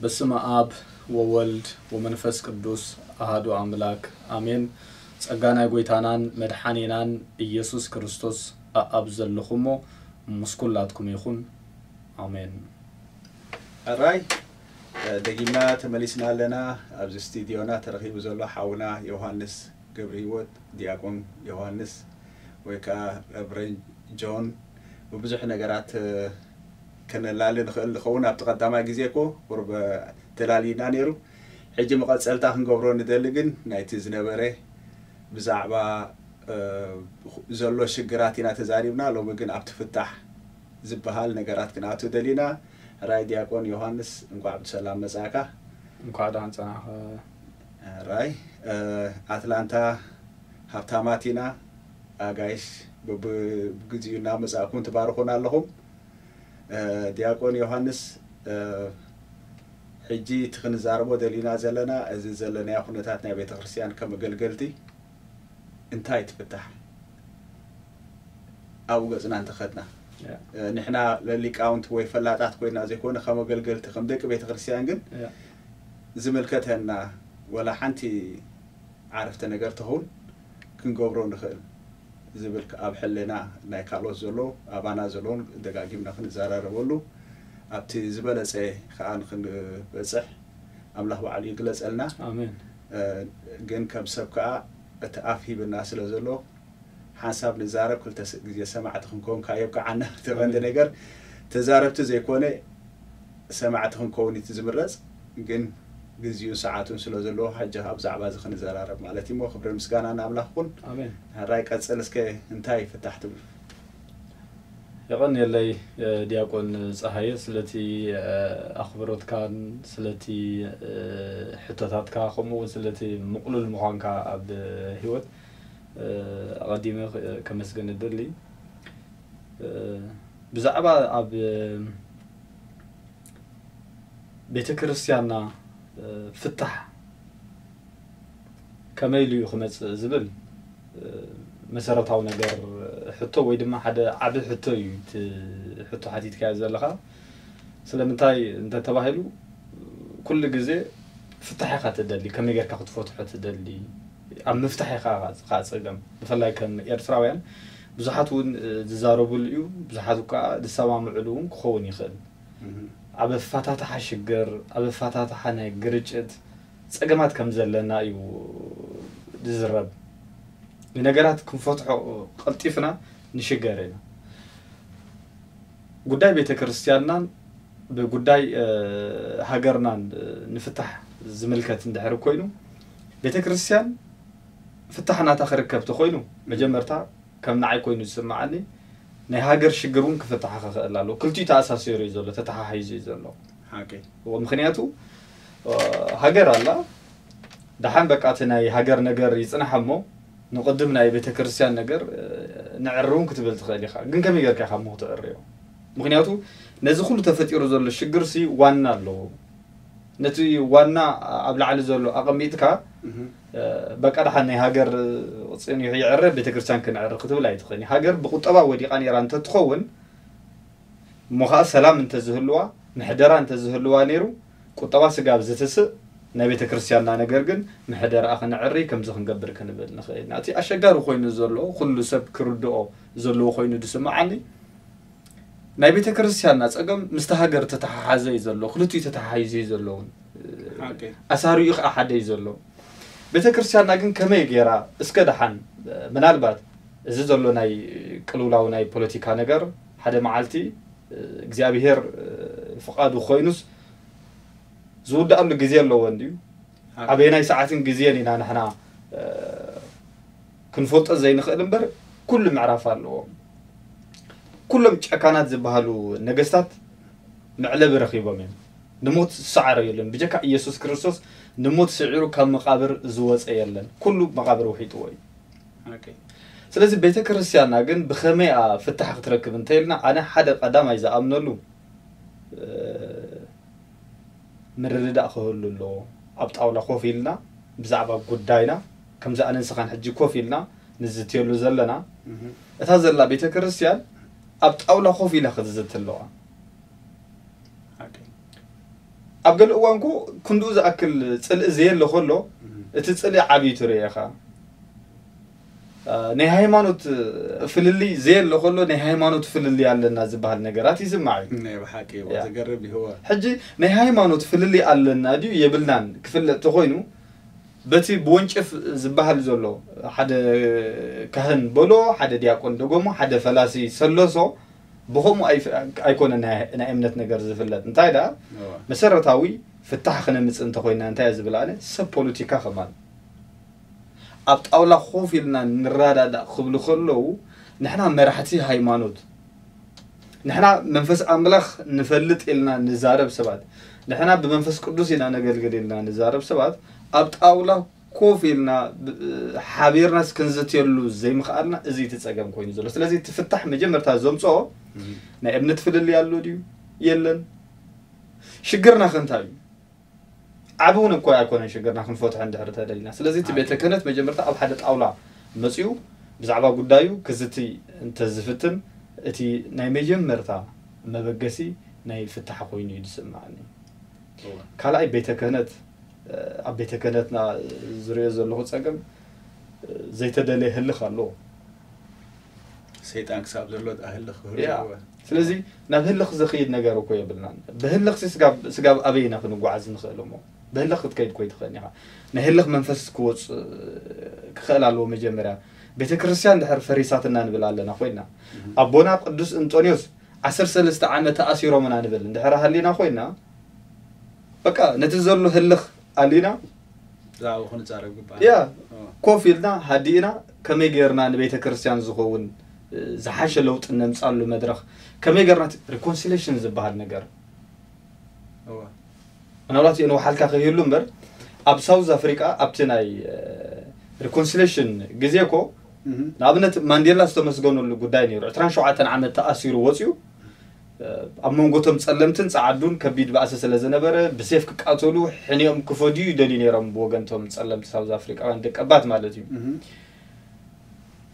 በስመ ኣብ ወወልድ ወመንፈስ ቅዱስ ኣሃዱ ኣምላክ ኣሜን። ጸጋ ናይ ጎይታናን መድሓኒናን ኢየሱስ ክርስቶስ ኣኣብ ዘለኹሞ ምስ ኩላትኩም ይኹን። ኣሜን። ሕራይ ደጊምና ተመሊስና ኣለና። ኣብዚ ስቱዲዮና ተረኺቡ ዘሎ ሓውና ዮሃንስ ገብረ ህይወት፣ ዲያቆን ዮሃንስ ወይ ከዓ ረቨረንድ ጆን፣ ብብዙሕ ነገራት ከነላሊ ንኽእል ንኸውን። ኣብቲ ቀዳማይ ግዜ እኮ ቁሩብ ተላሊና ነይሩ። ሕጂ መቐፀልታ ክንገብሮ ንደሊ ግን ናይቲ ዝነበረ ብዛዕባ ዘሎ ሽግራት ኢና ተዛሪብና። ሎሚ ግን ኣብቲ ፍታሕ ዝበሃል ነገራት ክንኣቱ ደሊና። ሕራይ ዲያቆን ዮሃንስ፣ እንኳዕ ብሰላም መጻእካ። እንኳዕ ደሓን ጸናሕካ። ሕራይ ኣትላንታ ሃብታማት ኢና። ኣጋይሽ ብግዜኡ እናመጻእኩም ትባርኹና ኣለኹም። ዲያቆን ዮሃንስ፣ ሕጂ እቲ ክንዛረቦ ደሊና ዘለና እዚ ዘለናዮ ኩነታት ናይ ቤተ ክርስቲያን ከም ኣገልገልቲ እንታይ ትፍታሕ ኣብኡ ገጽና እንተኸድና ንሕና ሊቃውንት ወይ ፈላጣት ኮይና ዘይኮነ ከም ኣገልገልቲ ከም ደቂ ቤተ ክርስቲያን ግን ዝምልከተና ወላ ሓንቲ ዓረፍተ ነገር ተኸውን ክንገብሮ ንኽእል ዝብል ኣብ ሕልና ናይ ካልኦት ዘሎ ኣባና ዘለውን ደጋጊምና ክንዘራረበሉ ኣብቲ ዝበለጸ ከዓ ንክንበፅሕ ኣምላኽ ባዕሉ ይግለጸልና። ኣሜን። ግን ከም ሰብ ከዓ እቲ ኣፍ ሂብና ስለ ዘሎ ሓንሳብ ንዛረብ ክልተ ግዜ ሰማዕቲ ክንከውን ከዓ የብቅዓና። እቲ ቀንዲ ነገር ተዛረብቲ ዘይኮነ ሰማዕቲ ክንከውን እቲ ዝምረፅ፣ ግን ግዜኡ ሰዓቱን ስለ ዘለዎ ሕጂ ኣብ ዛዕባ እዚ ክንዘራረብ ማለት እዩ። እሞ ክብሪ ምስጋና ንኣምላኽ ኩን። ኣሜን። ሕራይ ቀፅል እስከ እንታይ ፍታሕ ትብሉ? የቐንየለይ ዲያቆን ፀሃየ ስለቲ ኣኽብሮትካን ስለቲ ሕቶታትካ ከምኡ እውን ስለቲ ምቕሉል ምዃንካ ኣብ ህይወት ኣቐዲመ ከመስገን እደሊ። ብዛዕባ ኣብ ቤተ ክርስቲያንና ፍታሕ ከመይ ኢሉ እዩ ክመፅእ ዝብል መሰረታዊ ነገር ሕቶ ወይ ድማ ሓደ ዓቢ ሕቶ እዩ እቲ ሕቶ ሓቲትካዮ ዘለኻ። ስለምንታይ እንተተባሂሉ ኩሉ ግዜ ፍታሕ ኢኻ ትደሊ፣ ከመይ ጌርካ ክትፈትሖ ትደሊ፣ ኣብ ምፍታሕ ኢኻ ኸዓ ጸገም። ብፍላይ ከም ኤርትራውያን ብዙሓት እውን ዝዛረብሉ እዩ፣ ብዙሓት ከዓ ዝሰማምዕሉ እውን ክኸውን ይኽእል። ኣብ ኣፈታትሓ ሽግር፣ ኣብ ኣፈታትሓ ናይ ግርጭት ጸገማት ከም ዘለና እዩ ዝዝረብ። ንነገራት ክንፈትሖ ቀልጢፍና ንሽገር ኢና። ጉዳይ ቤተ ክርስቲያንናን ብጉዳይ ሃገርናን ንፍታሕ ዝምልከት እንድሕር ኮይኑ ቤተ ክርስቲያን ፍታሕ ናታ ክርከብ ተኮይኑ መጀመርታ ከም ንዓይ ኮይኑ ዝስምዓኒ ናይ ሃገር ሽግር እውን ክፍታሕ ክኽእል ኣለዎ። ክልቲኡ ተኣሳሲሩ እዩ ዘሎ፣ ተተሓሒዙ እዩ ዘሎ። ሓቂ ምክንያቱ ሃገር ኣላ፣ ደሓን በቃ እቲ ናይ ሃገር ነገር ይፅናሕ እሞ ንቕድም ናይ ቤተ ክርስቲያን ነገር ንዕሪ እውን ክትብል ትኽእል ኢኻ። ግን ከመይ ጌርካ ኢኻ እሞ ክትዕርዮ? ምክንያቱ ነዚ ኩሉ ተፈጢሩ ዘሎ ሽግር ሲ ዋና ኣለዎ። ነቲ ዋና ኣብ ላዕሊ ዘሎ ኣቐሚጥካ በቃ ደሓን ናይ ሃገር ፅኒሑ ይዕረ ቤተክርስትያን ክንዕረ ክትብል ኣይትኽእልን። ሃገር ብቁጠባ ወዲቓ ነይራ እንተትኸውን እሞ ከዓ ሰላም እንተዝህልዋ ምሕደራ እንተዝህልዋ ነይሩ ቁጠባ ስጋብ ዝትስእ ናይ ቤተክርስትያንና ነገር ግን ምሕደራኣ ክንዕሪ ከምዚ ክንገብር ክንብል ንኽእል ኢና። እቲ ኣሸጋሪ ኮይኑ ዘሎ ኩሉ ሰብ ክርድኦ ዘለዎ ኮይኑ ዝስምዓኒ ናይ ቤተ ክርስቲያንና ጸገም ምስቲ ሃገር ተተሓሓዘ እዩ ዘሎ፣ ክልቲኡ ተተሓሒዙ እዩ ዘሎ እውን ሓቂ ኣሳሪኡ ከዓ ሓደ እዩ ዘሎ። ቤተ ክርስቲያንና ግን ከመይ ገይራ እስከ ደሓን ምናልባት እዚ ዘሎ ናይ ቅልውላው ናይ ፖለቲካ ነገር ሓደ መዓልቲ እግዚኣብሄር ፍቓዱ ኮይኑስ ዝውዳኣሉ ግዜ ኣለዎ እንድዩ። ኣበየናይ ሰዓትን ግዜን ኢና ንሕና ክንፈልጦ ዘይንኽእል እምበር ኩሉ ምዕራፍ ኣለዎ። ኩሎም ጨካናት ዝበሃሉ ነገስታት መዕለቢ ረኺቦም እዮም። ንሞት ዝሰዓረ የለን። ብጀካ ኢየሱስ ክርስቶስ ንሞት ስዒሩ ካብ መቓብር ዝወፀ የለን። ኩሉ መቓብር ውሒጥዎ እዩ። ሓቂ ስለዚ ቤተ ክርስቲያንና ግን ብኸመይ እያ ፍታሕ ክትረክብ እንተኢልና ኣነ ሓደ ቀዳማይ ዝኣምነሉ ምርድዳእ ክህሉ ኣለዎ። ኣብ ጣውላ ኮፍ ኢልና ብዛዕባ ጉዳይና ከምዚ ኣነ ንስኻን ሕጂ ኮፍ ኢልና ንዝትየሉ ዘለና እታ ዘላ ቤተ ክርስቲያን ኣብ ጣውላ ኮፍ ኢላ ክትዝቲ ኣለዋ። ሓቂ ኣብ ገለ እዋን እኮ ክንድኡ ዝኣክል ጽልኢ ዘየለ ከሎ እቲ ጽልኢ ዓብዩ ትርኢ ኢኻ። ናይ ሃይማኖት ፍልልይ ዘየለ ከሎ ናይ ሃይማኖት ፍልልይ ኣለና ዝበሃል ነገራት ይስማዕ እዩ። ናይ ብሓቂ እዎ፣ ያ። ዘገርም እዩ እዎ። ሕጂ ናይ ሃይማኖት ፍልልይ ኣለና ድዩ የብልናን ክፍለጥ ተኾይኑ በቲ ብወንጭፍ ዝበሃል ዘሎ ሓደ ካህን በሎ ሓደ ዲያቆን ደጎሞ ሓደ ፈላሲ ሰለሶ ብኸምኡ ኣይፍ- ኣይኮነ ናይ ናይ እምነት ነገር ዝፍለጥ እንታይ ደኣ እዎ። መሰረታዊ ፍታሕ ክነምፅእ እንተኮይና እንታይ እየ ዝብል ኣነ ሰብ ፖለቲካ ከማን ኣብ ጣውላ ኮፍ ኢልና ንረዳዳእ ክብሉ ከለዉ ንሕና መራሕቲ ሃይማኖት ንሕና መንፈስ ኣምላኽ ንፈልጥ ኢልና ንዛረብ ሰባት ንሕና ብመንፈስ ቅዱስ ኢና ነገልግል ኢልና ንዛረብ ሰባት ኣብ ጣውላ ኮፍ ኢልና ብ- ሓቢርናስ ክንዝትየሉ ዘይምኽኣልና እዚ እቲ ፀገም ኮይኑ ዘሎ ስለዚ እቲ ፍታሕ መጀመርታ ዘምፅኦ ናይ እምነት ፍልልይ ኣሎ ድዩ የለን ሽግርና ከ እንታይ እዩ ዓቢ እውን እኮ ኣይኮነን ሽግርና ክንፈትሖ እንድሕር ተደሊና ስለዚ እቲ ዓቢ። ቤተ ክህነት መጀመርታ ኣብ ሓደ ጣውላ መፅዩ ብዛዕባ ጉዳዩ ክዝቲ እንተዝፍትን እቲ ናይ መጀመርታ መበገሲ ናይ ፍታሕ ኮይኑ እዩ ዝስምዓኒ እወ። ካልኣይ ቤተ ክህነት ኣብ ቤተ ክህነትና ዝሪኦ ዘለኹ ፀገም ዘይተደለየ ህልኽ ኣለዎ ሰይጣን ክሳብ ዘሎ ኣህልኽ ክህሉ ያ። እወ። ስለዚ ናብ ህልኽ ዝኽይድ ነገር እኮ የብልናን ብህልኽሲ ስጋብ- ስጋብ ኣበይ ኢና ክንጓዓዝ ንኽእል እሞ ብህልኽ ክትከይድ ኮይ ትኽእል ኢኻ ናይ ህልኽ መንፈስ ክወፅ ክኽእል ኣለዎ መጀመርያ ቤተ ክርስቲያን ድሕር ፈሪሳትና ንብል ኣለና ኮይና ኣቦና ቅዱስ እንጦንዮስ ዓሰርተ ሰለስተ ዓመት ተኣሲሮምና ንብል እንድሕር ሃሊና ኮይና በቃ ነቲ ዘሎ ህልኽ ኣሊና ብዛዕባ ክንዛረብ ግባእ ያ እወ። ኮፍ ኢልና ሃዲእና ከመይ ገይርና ንቤተ ክርስቲያን ዝኸውን እ፣ ዝሓሸ ለውጢ ነምፃሉ መድረኽ ከመይ ገይርና ሪኮንሲሌሽን ዝበሃል ነገር እወ። ምናልባት የንውሓልካ ከይህሉ እምበር ኣብ ሳውዝ ኣፍሪቃ ኣብቲ ናይ ሪኮንሲሌሽን ግዜ እኮ እህ። ንኣብነት ማንዴላ ዝተመስገነሉ ጉዳይ ነይሩ ዕስራን ሸውዓተን ዓመት ተኣሲሩ ወፅዩ ኣብ መንጎቶም ጸለምትን ጸዓዱን ከቢድ ባእሲ ስለ ዝነበረ ብሴፍ ክቃተሉ ሕኒኦም ክፈድዩ ይደልዩ ነይሮም ብወገንቶም ጸለምቲ ሳውዝ ኣፍሪቃውያን ደቀባት ማለት እዩ እህ።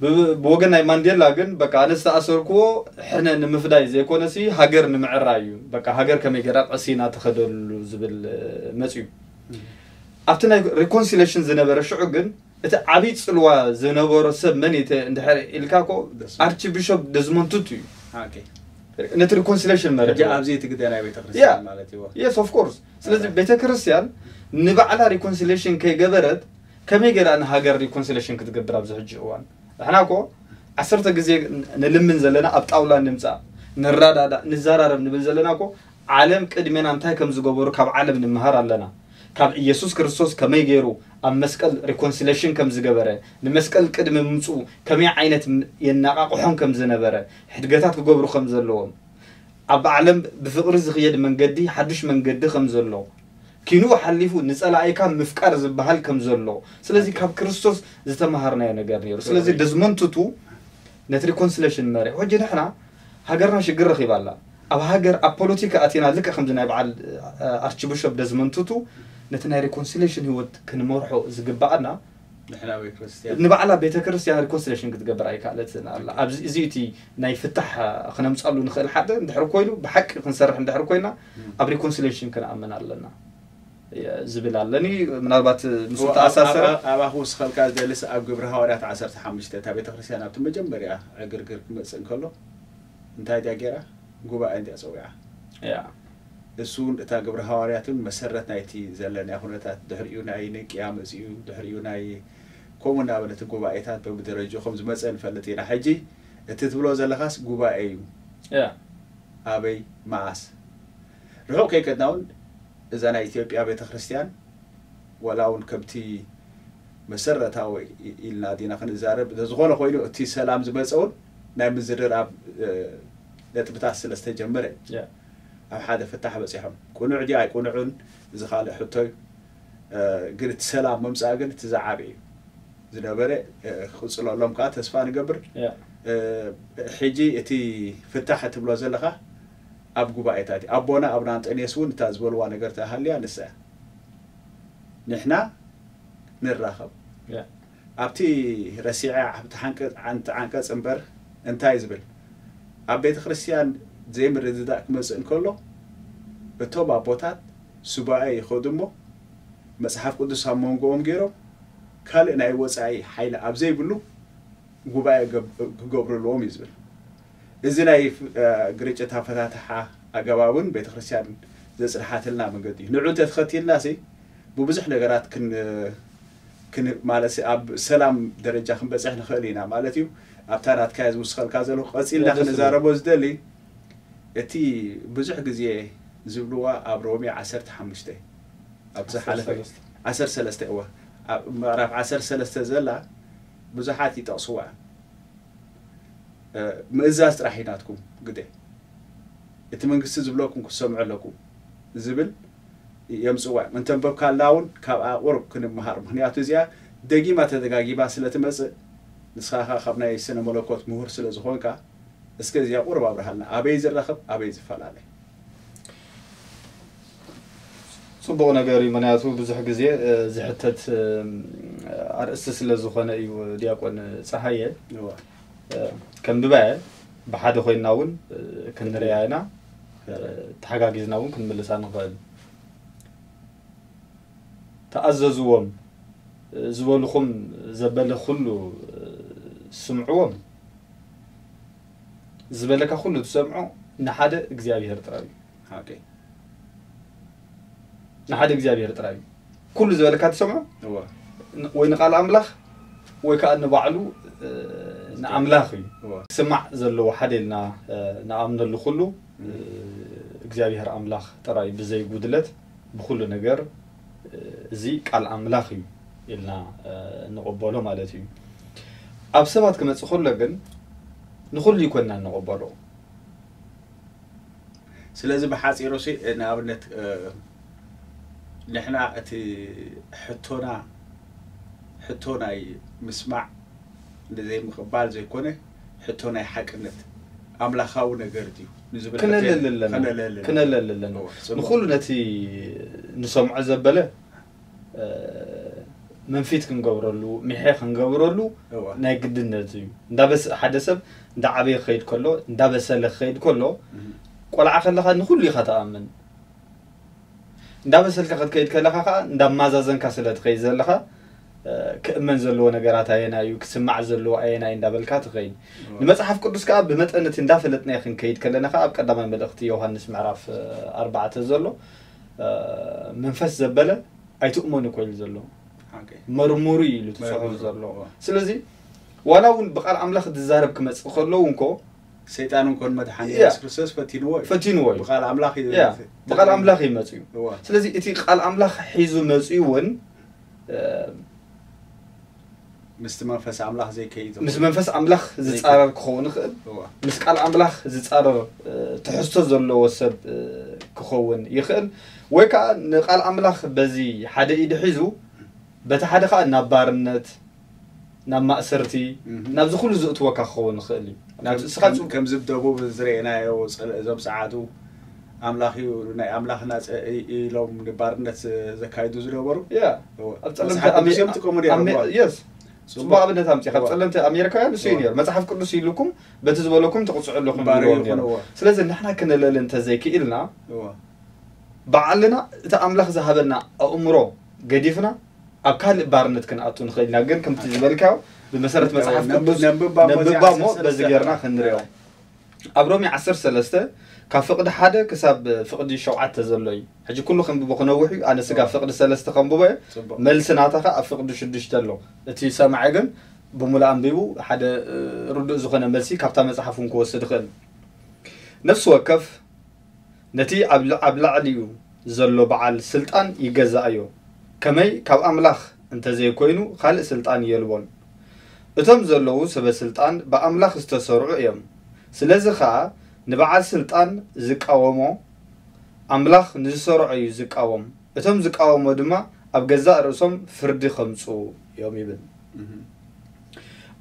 ብ- ብወገን ናይ ማንዴላ ግን በቃ ኣነ ዝተኣሰርክዎ ሕነ ንምፍዳይ ዘይኮነሲ ሃገር ንምዕራይ እዩ በቃ ሃገር ከመይ ገራ ቀሲና ተኸደሉ ዝብል እ፣ መጽዩ ኣብቲ ናይ ሪኮንሲሌሽን ዝነበረ ሽዑ ግን እቲ ዓብዪ ጽልዋ ዝነበሮ ሰብ መን እዩ ተ- እንድሕር ኢልካ ኮ ደስ- ኣርቺ ቢሾፕ ደዝሞንድ ቱቱ እዩ ኦኬ። ነቲ ሪኮንሲሌሽን መርሕ ሕጂ ኣብዚ እቲ ግደ ናይ ቤተክርስትያን ማለት እዩ የስ ኦፍ ኮርስ ስለዚ ቤተክርስትያን ንባዕላ ሪኮንሲሌሽን ከይገበረት ከመይ ገይራ ንሃገር ሪኮንሲሌሽን ክትገብር ኣብዚ ሕጂ እዋን ንሕና ኮ ዓሰርተ ግዜ ንልምን ዘለና ኣብ ጣውላ ንምፃእ ንረዳዳእ ንዘራረብ ንብል ዘለና ኮ ዓለም ቅድሜና እንታይ ከም ዝገበሩ ካብ ዓለም ንምሃር ኣለና ካብ ኢየሱስ ክርስቶስ ከመይ ገይሩ ኣብ መስቀል ሪኮንሲሌሽን ከም ዝገበረ ንመስቀል ቅድሚ ምምፅኡ ከመይ ዓይነት የናቃቅሖም ከም ዝነበረ ሕድገታት ክገብሩ ከም ዘለዎም ኣብ ዓለም ብፍቅሪ ዝኽየድ መንገዲ ሓዱሽ መንገዲ ከም ዘሎ ኪንኡ ሓሊፉ ንጸላኢካ ምፍቃር ዝበሃል ከም ዘሎ ስለዚ ካብ ክርስቶስ ዝተመሃርናዮ ነገር ነይሩ ስለዚ ደዝሞንድ ቱቱ ነቲ ሪኮንሲሌሽን መሪሑ ሕጂ ንሕና ሃገርና ሽግር ረኺባ ኣላ ኣብ ሃገር ኣብ ፖለቲካ ኣቲና ልክዕ ከምዚ ናይ በዓል ኣርችብሾፕ ደዝሞንድ ቱቱ ነቲ ናይ ሪኮንሲሌሽን ህይወት ክንመርሖ ዝግብኣና ንሕና ወይ ክርስቲያን ንባዕላ ቤተ ክርስቲያን ሪኮንሲሌሽን ክትገብር ኣይከኣለትን ኣላ ኣብዚ እዚ እቲ ናይ ፍታሕ ክነምፃሉ ንኽእል ሓደ እንድሕር ኮይኑ ብሓቂ ክንሰርሕ እንድሕር ኮይና ኣብ ሪኮንሲሌሽን ክንኣምን ኣለና ዝብል ኣለኒ ምናልባት ምስ ተኣሳሰረ ኣባኹ ውስኸልካ ዝደልስ ኣብ ግብሪ ሃዋርያት ዓሰርተ ሓሙሽተ እታ ቤተክርስትያን ኣብቲ መጀመርያ ዕግርግር ክመፅእ እንከሎ እንታይ ድያ ገይራ ጉባኤ እንድያ ፀዊዓ ያ እሱ እውን እታ ግብሪ ሃዋርያትን መሰረት ናይቲ ዘለናዮ ኩነታት ድሕሪኡ ናይ ንቅያ መፅኡ ድሕሪኡ ናይ ከምኡ እናበለ እቲ ጉባኤታት በብደረጅኡ ከም ዝመፀ ንፈልጥ ኢና ሕጂ እቲ ትብሎ ዘለኻስ ጉባኤ እዩ ያ ኣበይ መዓስ ርሑቕ ከይከድና እውን እዛ ናይ ኢትዮጵያ ቤተክርስትያን ወላ እውን ከምቲ መሰረታዊ ኢልና ዲና ክንዛረብ እንተዝኾነ ኮይኑ እቲ ሰላም ዝመፀ እውን ናይ ምዝርራብ ነጥብታት ስለ ዝተጀመረ ያ ኣብ ሓደ ፍታሕ በፂሖም ቅኑዕ ድዩ ኣይቅኑዕን እዚ ካልእ ሕቶ እዩ ግን እቲ ሰላም ምምፃእ ግን እቲ ዝዓበ እዩ ዝነበረ ክቕፅለሎም ከዓ ተስፋ ንገብር ያ ሕጂ እቲ ፍታሕ እትብሎ ዘለኻ ኣብ ጉባኤታት እዩ ኣቦና ኣብና ኣንጠንዮስ እውን እታ ዝበልዋ ነገር ተሃልያ ንሳ እያ ንሕና ንራኸብ ያ ኣብቲ ረሲዐ ኣብቲ ሓንቀ- ዓንተ- ዓንቀፅ እምበር እንታይ ዝብል ኣብ ቤተ ክርስቲያን ዘይምርድዳእ ክመፅእ እንከሎ እቶም ኣቦታት ሱባኤ ይኸዱ እሞ፣ መጽሓፍ ቅዱስ ኣብ መንጎኦም ገይሮም፣ ካልእ ናይ ወጻኢ ሓይሊ ኣብ ዘይብሉ ጉባኤ ገብ-፣ ክገብሩ ኣለዎም እዩ ዝብል። እዚ ናይ፣ እ፣ ግርጭት ኣፈታትሓ ኣገባብን ቤተክርስትያን ዘጽንሓትልና መንገዲ እዩ። ንዑ እንተተኸቲልናሲ፣ ብብዙሕ ነገራት ክን-፣ ክን-፣ ማለት ኣብ ሰላም ደረጃ ክንበጽሕ ንኽእል ኢና ማለት እዩ። ኣብታ ናትካ ዝውስኸልካ ዘለኹ ቀጺልና ወደ ስለ- ክንዛረቦ ዝደሊ፣ እቲ ብዙሕ ግዜ ዝብልዋ ኣብ ሮሜ ዓሰርተ ሓሙሽተ፣ ኣብ ዝሓለፈ ዓሰርተ ሰለስተ። ዓሰርተ ሰለስተ፣ እዋ፣ ኣብ ምዕራፍ ዓሰርተ ሰለስተ ዘላ ብዙሓት ይጠቕስዋ። እ፣ ምእዛዝ ጥራሕ እዩ ናትኩም ግደ። እቲ መንግስቲ ዝብለኩም ክትሰምዑ ኣለኩም ዝብል የምጽዋ። እንተንበብካልና እውን ካብኣ ቁሩብ ክንመሃር። ምኽንያቱ እዚኣ ደጊማ ተደጋጊማ ስለ ትመጽእ፣ ንስኻ ኸኣ ካብ ናይ ስነ መለኮት ምሁር ስለ ዝኾንካ፣ እስከ እዚኣ ቁሩብ ኣብርሃልና። ኣበይ ዝራኸብ፣ ኣበይ ዝፈላለ? ጽቡቕ ነገር እዩ። ምኽንያቱ ብዙሕ ግዜ፣ እ፣ ዝሕተት፣ እ፣ ኣርእስቲ ስለ ዝኾነ እዩ ዲያቆን ጸሃየ። እዋ። እ፣ ከንብባ እየ። ብሓደ ኮይንና እውን፣ እ፣ ክንርእያ ኢና። እ፣ ተሓጋጊዝና እውን ክንምልሳ ንኽእል። ተኣዘዝዎም፣ እ፣ ዝበልኹም ዘበለ ኩሉ፣ እ፣ ስምዕዎም። ዝበለካ ኩሉ ትሰምዖ ንሓደ እግዚኣብሔር ጥራይ እዩ። ኦኬ። ንሓደ እግዚኣብሔር ጥራይ እዩ። ኩሉ ዝበለካ ትሰምዖ እዋ። ን-፣ ወይ ንቃል ኣምላኽ ወይ ከዓ ንባዕሉ፣ እ፣ ንኣምላኽ እዩ። እዋ። ክስማዕ ዘለዎ ሓደ ኢልና፣ እ፣ ንኣምነሉ ኩሉ፣ እ፣ እግዚኣብሔር ኣምላኽ ጥራይ ብዘይ ጉድለት ብኩሉ ነገር፣ እ፣ እዚ ቃል ኣምላኽ እዩ ኢልና፣ እ፣ እንቕበሎ ማለት እዩ። ኣብ ሰባት ክመጽእ ከሎ ግን ንኹሉ ይኮንና እንቕበሎ። ስለዚ ብሓጺሩ ሲ፣ ንኣብነት፣ እ፣ ንሕና እቲ ሕቶና፣ ሕቶ ናይ ምስማዕ ንዘይምቕባል ዘይኮነ፣ ሕቶ ናይ ሓቅነት ኣምላኻዊ ነገር ድዩ ንዝብል ሕቶ ክነለሊ ኣለና። ክነለሊ ኣለና። ክነለሊ ኣለና። እወ፣ ጽቡቕ። ንኹሉ ነቲ ንሰምዖ ዘበለ፣ እ፣ መንፊት ክንገብረሉ፣ ሚሐ ክንገብረሉ እወ። ናይ ግድነት እዩ። እንዳበስ-፣ ሓደ ሰብ እንዳዓበየ ክኸይድ ከሎ፣ እንዳበሰለ ክኸይድ ከሎ፣ እህ። ቆልዓ ከለኻ ንኹሉ ኢኻ ትኣምን። እንዳበሰልካ ክትከይድ ከለኻ ኸዓ እንዳማዛዘንካ ስለ ትኸይድ ዘለኻ፣ እ፣ ክእመን ዘለዎ ነገራት ኣየናይ እዩ፣ ክስማዕ ዘለዎ ኣየናይ እንዳበልካ ትኸይድ። እወ። ንመጽሓፍ ቅዱስ ከኣ ብመጠን እቲ እንዳፈለጥናዮ ክንከይድ ከለና ኸኣ ኣብ ቀዳማይ መልእኽቲ ዮሃንስ ምዕራፍ፣ እ፣ ኣርባዕተ ዘሎ፣ እ፣ መንፈስ ዘበለ ኣይትእመኑ እኮ ኢሉ ዘሎ። ሓቂ። መርምሩ ኢሉ እቲ ጽሑፍ መርምሩ። ዘሎ። እወ። ስለዚ ዋላ እውን ብቃል ኣምላኽ ዝዛረብ ክመጽእ ከሎ እውን እኮ ሰይጣን እንኮን መድሓኒ ያ። የሱስ ክርስቶስ ፈቲንዎ እዩ። ፈቲንዎ እዩ። ብቃል ኣምላኽ እዩ ያ። ፈ-፣ ብቃል ኣምላኽ እዩ መጽኡ። እወ። ስለዚ እቲ ቃል ኣምላኽ ሒዙ መጽኡ እውን፣ እ፣ ምስቲ መንፈስ ኣምላኽ ዘይከይድ ምስ መንፈስ ኣምላኽ ዝጻረር ክኸውን ይኽእል። እወ። ምስ ቃል ኣምላኽ ዝጻረር፣ እ፣ ትሕዝቶ ዘለዎ ሰብ፣ እ፣ ክኸውን ይኽእል። ወይ ከኣ ንቃል ኣምላኽ በዚ ሓደ ኢዱ ሒዙ፣ በቲ ሓደ ከኣ ናብ ባርነት፣ ናብ ማእሰርቲ፣ እህ። ናብዚ ኩሉ ዘእትወካ ክኸውን ይኽእል እዩ። ናብ ከም-፣ እስኻ ከም-፣ ጽ-፣ ከምዚ ኣብ ደቡብ ዝረኣናዮ ጸለ-፣ እዞም ጸዓዱ ኣምላኽ እዩ፣ ናይ ኣምላኽና ጸ-፣ ኢ-፣ ኢሎም ንባርነት ዘካይዱ ዝነበሩ። ያ። እወ። ኣብ ጸለምቲ መጽሓፍ ኣሜ-፣ ቅዱስ እዮም ዝጥቀሙ ነይሮም፣ ኣሜ-፣ እወ። የስ። ጽቡቕ። ጽቡቕ ኣብነት ኣምጺእካ። እወ። ጸለምቲ ኣሜሪካውያን ንሱ እዩ እወ። ነይሩ። መጽሓፍ ቅዱስ ኢሉኩም በቲ ዝበለኩም ትቕጽዑ ኣለኹም ባርዩ ይብልዎም ይኹን፣ ነይሮም። እወ። ስለዚ ንሕና ክነለሊ እንተዘይክኢልና፣ እወ። ባዕልና እቲ ኣምላኽ ዝሃበና ኣእምሮ ገዲፍና ኣብ ካልእ ባርነት ክንኣቱ ንኽእል ኢና። ግን ከምቲ ዝበልካዮ ብመሰረት መጽሓፍ ነንብ-፣ ቅዱስ ነንብባ እሞ ነንብባ እዚኣ እሞ ዓሰርተ በዚ ሰለስተ ጌርና ክንሪኦ። ኣብ ሮሜ ዓሰርተ ሰለስተ ካብ ፍቕዲ ሓደ ክሳብ ፍቕዲ ሸውዓተ ዘሎ እዩ። ሕጂ ኩሉ ከንብቦ ክነውሕ እዩ። ኣነ ስጋ እወ። ፍቕዲ ሰለስተ ከንብቦ እየ። ጽቡቕ። መልሲ ናታ ኸኣ ኣብ ፍቕዲ ሽዱሽተ ኣሎ። እቲ ሰማዒ ግን ብምሉእ ኣንቢቡ ሓደ፣ እ፣ ርዱእ ዝኾነ መልሲ ካብታ መጽሓፍ እውን ክወስድ ይኽእል። ነፍሲ ወከፍ ነቲ ኣብ ል-፣ ኣብ ላዕሊኡ ዘሎ በዓል ስልጣን ይገዛእዮ። ከመይ ካብ ኣምላኽ እንተ ዘይኮይኑ ካልእ ስልጣን የልቦን። እቶም ዘለዉ ሰበ ስልጣን ብኣምላኽ ዝተሰርዑ እዮም። ስለዚ ኸኣ ንበዓል ስልጣን ዝቃወሞ ኣምላኽ ንዝሰርዖ እዩ ዝቃወም። እቶም ዝቃወሞ ድማ ኣብ ገዛእ ርእሶም ፍርዲ ከምጽኡ እዮም ይብል። እህ።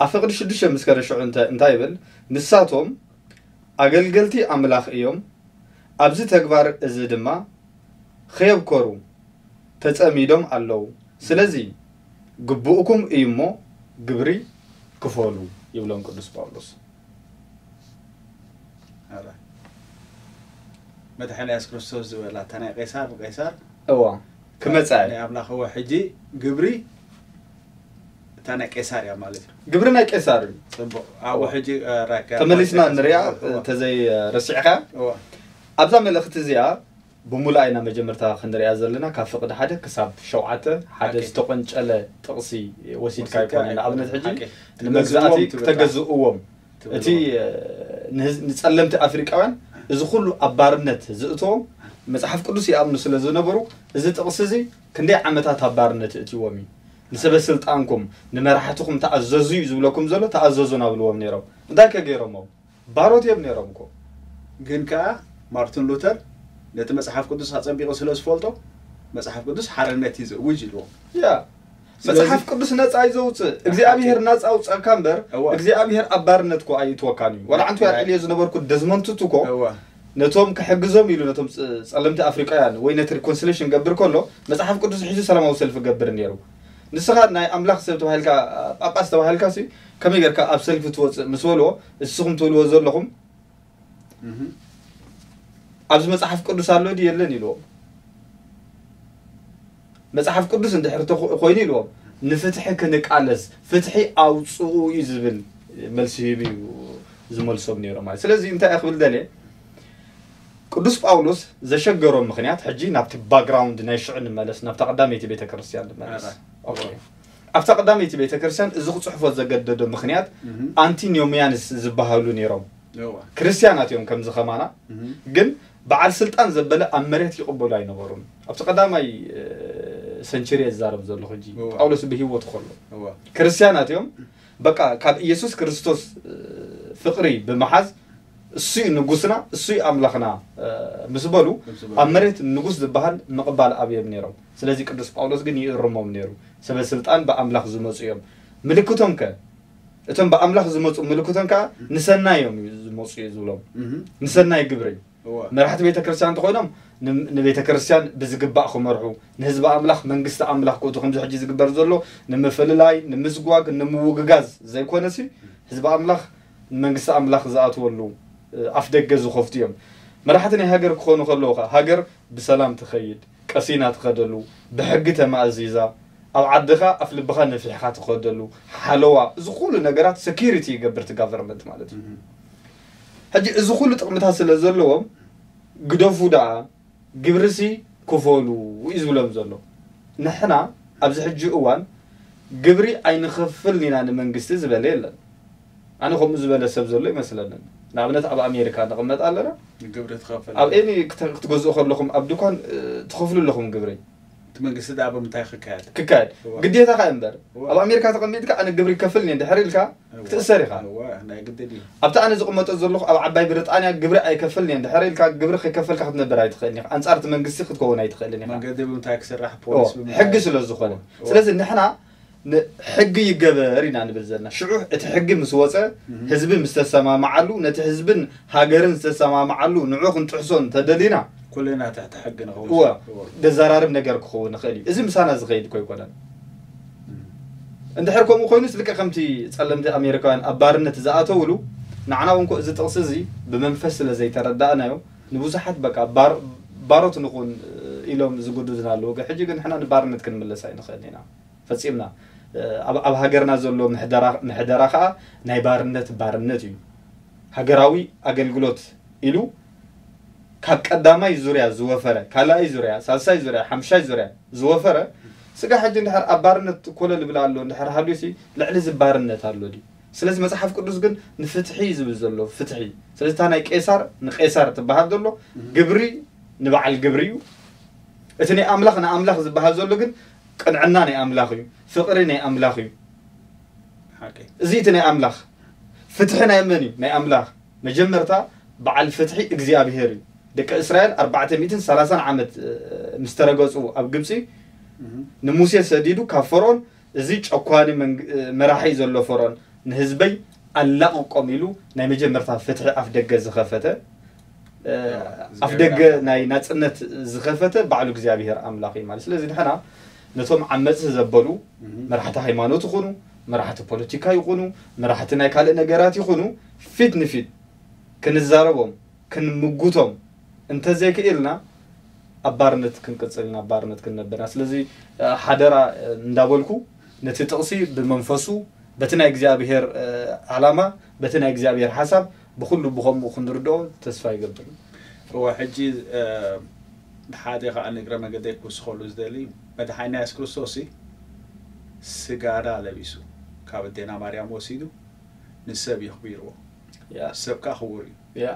ኣብ ፍቕዲ ሽዱሽተ ምስ ከደ ሽዑ እንተ-፣ እንታይ ይብል? ንሳቶም ኣገልገልቲ ኣምላኽ እዮም። ኣብዚ ተግባር እዚ ድማ ኸየብከሩ ተጸሚዶም ኣለዉ። ስለዚ ግቡእኩም እዩ እሞ ግብሪ ክፈሉ ይብሎም ቅዱስ ጳውሎስ። ኣረ፣ መድሓኒ የሱስ ክርስቶስ ዝበላ፣ እታ ናይ ቄሳር ንቄሳር፣ እዋ ክመጻ እየ። ናይ ኣምላኽ እወ ሕጂ ግብሪ እታ ናይ ቄሳር እያ ማለት እዩ። ግብሪ ናይ ቄሳር እዩ። ጽቡቕ ኣብኡ ሕጂ ተመሊስና ንሪኣ ተዘይ ረሲዕካ ኣብዛ መልእኽቲ እዚኣ ብሙሉኣ ኢና መጀመርታ ክንሪኣ ዘለና ካብ ፍቕዲ ሓደ ክሳብ ሸውዓተ ሓደ ዝተቆንጨለ ጥቕሲ ወሲድካ ኣይኮነ ንኣብነት ሕጂ ንመግዛእቲ ክተገዝእዎም እቲ ንጸለምቲ ኣፍሪቃውያን እዚ ኩሉ ኣብ ባርነት ዝእተዎም መጽሓፍ ቅዱስ ይኣምኑ ስለ ዝነበሩ እዚ ጥቕሲ እዚ ክንደይ ዓመታት ኣብ ባርነት እእትዎም እዩ። ንሰበ ስልጣንኩም ንመራሕትኹም ተኣዘዙ እዩ ዝብለኩም ዘሎ ተኣዘዙ ናብልዎም ነይሮም እንታይ ከገይሮሞም ባሮት እዮም ነይሮም እኮ። ግን ከኣ ማርቲን ሉተር ነቲ መጽሓፍ ቅዱስ ኣጸቢቑ ስለ ዝፈልጦ መጽሓፍ ቅዱስ ሓርነት እዩ ዘእውጅ ኢልዎም። ያ መጽሓፍ ቅዱስ ነጻ እዩ ዘውፅእ። እግዚኣብሔር ናጻ ኣውፀእካ እምበር እግዚኣብሔር ኣብ ባርነት እኮ ኣይእትወካን እዩ። ወላ ዓንቱ ያልዕልዮ ዝነበርኩ ደዝመንቱቱ እኮ ነቶም ክሕግዞም ኢሉ ነቶም ጸለምቲ ኣፍሪቃውያን ወይ ነቲ ሪኮንስሌሽን ገብር ከሎ መጽሓፍ ቅዱስ ሒዙ ሰላማዊ ሰልፊ ገብር ነይሩ። ንስኻ ናይ ኣምላኽ ሰብ ተባሂልካ ጳጳስ ተባሂልካ ሲ ከመይ ጌርካ ኣብ ሰልፊ ትወፅእ ምስ በልዎ እስኹም ትብልዎ ዘለኹም ኣብዚ መጽሓፍ ቅዱስ ኣሎ ድዩ የለን ኢልዎም። መጽሓፍ ቅዱስ እንድሕር ተኮ- ኮይኑ ኢልዎም ንፍትሒ ክንቃለስ ፍትሒ ኣውፅኡ እዩ ዝብል መልሲ ሂቡ እዩ ዝመልሶም ነይሮም ማለት። ስለዚ እንታይ እየ ክብል ደልየ ቅዱስ ጳውሎስ ዘሸገሮም ምክንያት ሕጂ ናብቲ ባክግራውንድ ናይ ሽዑ ንመለስ ናብታ ቀዳመይቲ ቤተ ክርስቲያን ንመለስ። ኣብታ ቀዳመይቲ ቤተ ክርስቲያን እዚ ክፅሕፎ ዘገደዶ ምክንያት ኣንቲኖሚያንስ ዝበሃሉ ነይሮም። ክርስትያናት እዮም ከምዚ ከማና ግን በዓል ስልጣን ዘበለ ኣብ መሬት ይቕበሉ ኣይነበሩን። ኣብቲ ቀዳማይ ሰንቸሪ እዛረብ ዘለኹ ሕጂ ጳውሎስ ብህይወት ከሎ ክርስትያናት እዮም በቃ ካብ ኢየሱስ ክርስቶስ ፍቕሪ ብምሓዝ እሱይ ንጉስና እሱይ ኣምላኽና ምስ በሉ ኣብ መሬት ንጉስ ዝበሃል ምቕባል ኣብዮም ነይሮም። ስለዚ ቅዱስ ጳውሎስ ግን ይእርሞም ነይሩ። ሰበ ስልጣን ብኣምላኽ ዝመፁ እዮም። ምልክቶም ከ እቶም ብኣምላኽ ዝመፁ ምልክቶም ከዓ ንሰናይ እዮም ዝመፁ እዩ ዝብሎም። ንሰናይ ግብሪ መራሕቲ ቤተ ክርስቲያን እንተኮይኖም ንቤተ ክርስቲያን ብዝግባእ ክመርሑ ንህዝቢ ኣምላኽ መንግስቲ ኣምላኽ ክእቱ ከምዚ ሕጂ ዝግበር ዘሎ ንምፍልላይ ንምዝጓግ ንምውግጋዝ ዘይኮነሲ ህዝቢ ኣምላኽ ንመንግስቲ ኣምላኽ ዝኣትወሉ ኣፍ ደገ ዝኸፍቱ እዮም። መራሕቲ ናይ ሃገር ክኾኑ ከለዉ ከዓ ሃገር ብሰላም ትኸይድ ቀሲና ትኸደሉ ብሕጊ ተማእዚዛ ኣብ ዓድኻ ኣፍ ልብኻ ነፊሕኻ ትኸደሉ ሓለዋ እዚ ኩሉ ነገራት ሰኪሪቲ ይገብር እቲ ጋቨርንመንት ማለት እዩ። ሕጂ እዚ ኩሉ ጥቕምታት ስለ ዘለዎም ግደፉ ደኣ ግብርሲ ክፈሉ እዩ ዝብሎም ዘሎ። ንሕና ኣብዚ ሕጂ እዋን ግብሪ ኣይንኸፍልን ኢና ንመንግስቲ ዝበለ የለን። ኣነ ከምኡ ዝበለ ሰብ ዘሎ ይመስለንን። ንኣብነት ኣብ ኣሜሪካ ንቕመጥ ኣለና። ግብሪ ትኸፍል ኣብ ኤኒ ክተ- ክትገዝኡ ከለኹም ኣብ ድኳን እ፣ ትኸፍሉ ኣለኹም ግብሪ እቲ መንግስቲ ደኣ ብምንታይ ክካየድ ክካየድ እዋ። ግዴታኻ እምበር እዋ። ኣብ ኣሜሪካ ተቐሚጥካ ኣነ ግብሪ ይከፍል እየ እንድሕር ኢልካ ክትእሰር ኢኻ። እዋ፣ ናይ ግድን እዩ ኣብቲ ኣነ ዝቕመጦ ዘለኹ ኣብ ዓባይ ብሪጣንያ ግብሪ ኣይከፍልን እየ እንድሕር ኢልካ ግብሪ ከይከፈልካ ክትነብር ኣይትኽእልን ኢኻ። ኣንጻር እቲ መንግስቲ ክትከውን ኣይትኽእልን ኢኻ። መንገዲ ብምንታይ ክስራሕ ፖሊስ ብምንታይ ሕጊ ስለ ዝኾነ። እዋ። ስለዚ ንሕና ሕጊ ይገበር ኢና ንብል ዘለና። ሽዑ እቲ ሕጊ ምስ ወፀ ህዝቢ ምስ ተሰማምዓሉ ነቲ ህዝብን ሃገርን ዝተሰማምዓሉ ንዑ ክንጥሕሶ እንተደሊና ኩልና ትሕቲ ሕጊ ንኸውን እወ ደዘራርብ ነገር ክኸውን ይኽእል እዩ። እዚ ምሳና ዝኸይድ እኮ ኣይኮነን። እንድሕር ከምኡ ኮይኑስ ልክዕ ከምቲ ፀለምቲ ኣሜሪካውያን ኣብ ባርነት ዝኣተውሉ ንዓና እውን እኮ እዚ ጥቕሲ እዚ ብመንፈስ ስለ ዘይተረዳእናዮ ንብዙሓት በቃ ባር- ባሮት ንኹን ኢሎም ዝጉድዙና ኣለዉ። ሕጂ ግን ንሕና ንባርነት ክንምለስ ኣይንኽእልን ኢና። ፈጺምና ኣብ ኣብ ሃገርና ዘሎ ምሕደራ ምሕደራ ከኣ ናይ ባርነት ባርነት እዩ። ሃገራዊ ኣገልግሎት ኢሉ ካብ ቀዳማይ ዙርያ ዝወፈረ ካልኣይ ዙርያ ሳልሳይ ዙርያ ሓምሻይ ዙርያ ዝወፈረ ስጋ ሕጂ እንድሕር ኣብ ባርነት ኮለል ይብል ኣሎ እንድሕር ሃልዩሲ ልዕሊ እዚ ባርነት ኣሎ ድዩ? ስለዚ መጽሓፍ ቅዱስ ግን ንፍትሒ እዩ ዝብል ዘሎ ፍትሒ። ስለዚ እታ ናይ ቄሳር ንቄሳር ትበሃል ዘሎ ግብሪ ንበዓል ግብሪ እዩ። እቲ ናይ ኣምላኽ ንኣምላኽ ዝበሃል ዘሎ ግን ቅንዕና ናይ ኣምላኽ እዩ፣ ፍቕሪ ናይ ኣምላኽ እዩ። እዚ እቲ ናይ ኣምላኽ ፍትሒ ናይ መን እዩ? ናይ ኣምላኽ። መጀመርታ በዓል ፍትሒ እግዚኣብሄር እዩ። ደቂ እስራኤል ኣርባዕተ ሚእትን ሰላሳን ዓመት ምስ ተረገጹ ኣብ ግብጺ ንሙሴ ሰዲዱ ካብ ፈርኦን እዚ ጨኳኒ መራሒ ዘሎ ፈርኦን ንህዝበይ ኣላቕቆም ኢሉ ናይ መጀመርታ ፍትሒ ኣፍ ደገ ዝኸፈተ ኣፍ ደገ ናይ ናጽነት ዝኸፈተ ባዕሉ እግዚኣብሄር ኣምላኽ እዩ ማለት። ስለዚ ንሕና ነቶም ዓመጽቲ ዘበሉ መራሕቲ ሃይማኖት ይኹኑ መራሕቲ ፖለቲካ ይኹኑ መራሕቲ ናይ ካልእ ነገራት ይኹኑ ፊት ንፊት ክንዛረቦም ክንምጉቶም እንተዘይክኢልና ኣብ ባርነት ክንቅጽል ኢና፣ ኣብ ባርነት ክንነብር ኢና። ስለዚ ሓደራ እንዳበልኩ ነቲ ጥቕሲ ብመንፈሱ በቲ ናይ እግዚኣብሔር ዓላማ በቲ ናይ እግዚኣብሔር ሓሳብ ብኹሉ ብኸምኡ ክንርድኦ ተስፋ ይገብር። እወ ሕጂ ሓደ ከዓ ንእግረ መገደይ ክውስኸሉ ዝደሊ መድሓኒና የሱስ ክርስቶስ ስጋና ለቢሱ ካብ ኣዴና ማርያም ወሲዱ ንሰብ የኽቢርዎ። ሰብ ከዓ ክቡር እዩ።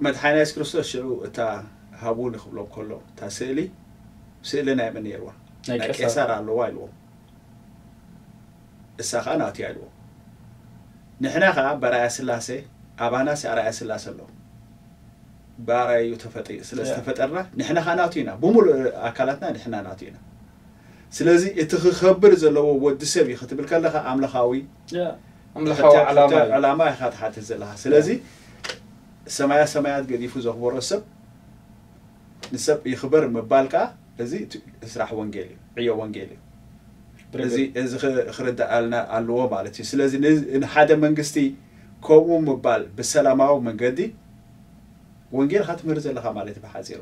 መድሓኒና የሱስ ክርስቶስ ሽዑ እታ ሃቡኒ ክብሎም ከሎ እታ ስእሊ ስእሊ ናይ መን ነይርዋ? ናይ ቄሳር ኣለዋ ኢልዎም። እሳ ከዓ ናቱ እያ ኢልዎም። ንሕና ከዓ በራእያ ስላሴ ኣባናስ ኣራእያ ስላሴ ኣሎ። ብኣራእዩ ተፈጢ ስለ ዝተፈጠርና ንሕና ከዓ ናቱ ኢና። ብሙሉእ ኣካላትና ንሕና ናቱ ኢና። ስለዚ እቲ ክኸብር ዘለዎ ወዲ ሰብ እዩ ክትብል ከለካ ኣምላኻዊ ኣምላኻዊ ዓላማ እዩ። ዕላማ ኢኻ ትሓትት ዘለካ። ስለዚ ሰማያ ሰማያት ገዲፉ ዘኽበሮ ሰብ ንሰብ ይኽበር ምባል ከዓ እዚ እቲ ስራሕ ወንጌል እዩ፣ ዕዮ ወንጌል እዩ። እዚ እዚ ክ- ክርዳኣልና ኣለዎ ማለት እዩ። ስለዚ ን- ንሓደ መንግስቲ ከምኡ ምባል ብሰላማዊ መንገዲ ወንጌል ኢኻ ትምህር ዘለኻ ማለት እዩ ብሓፂሩ።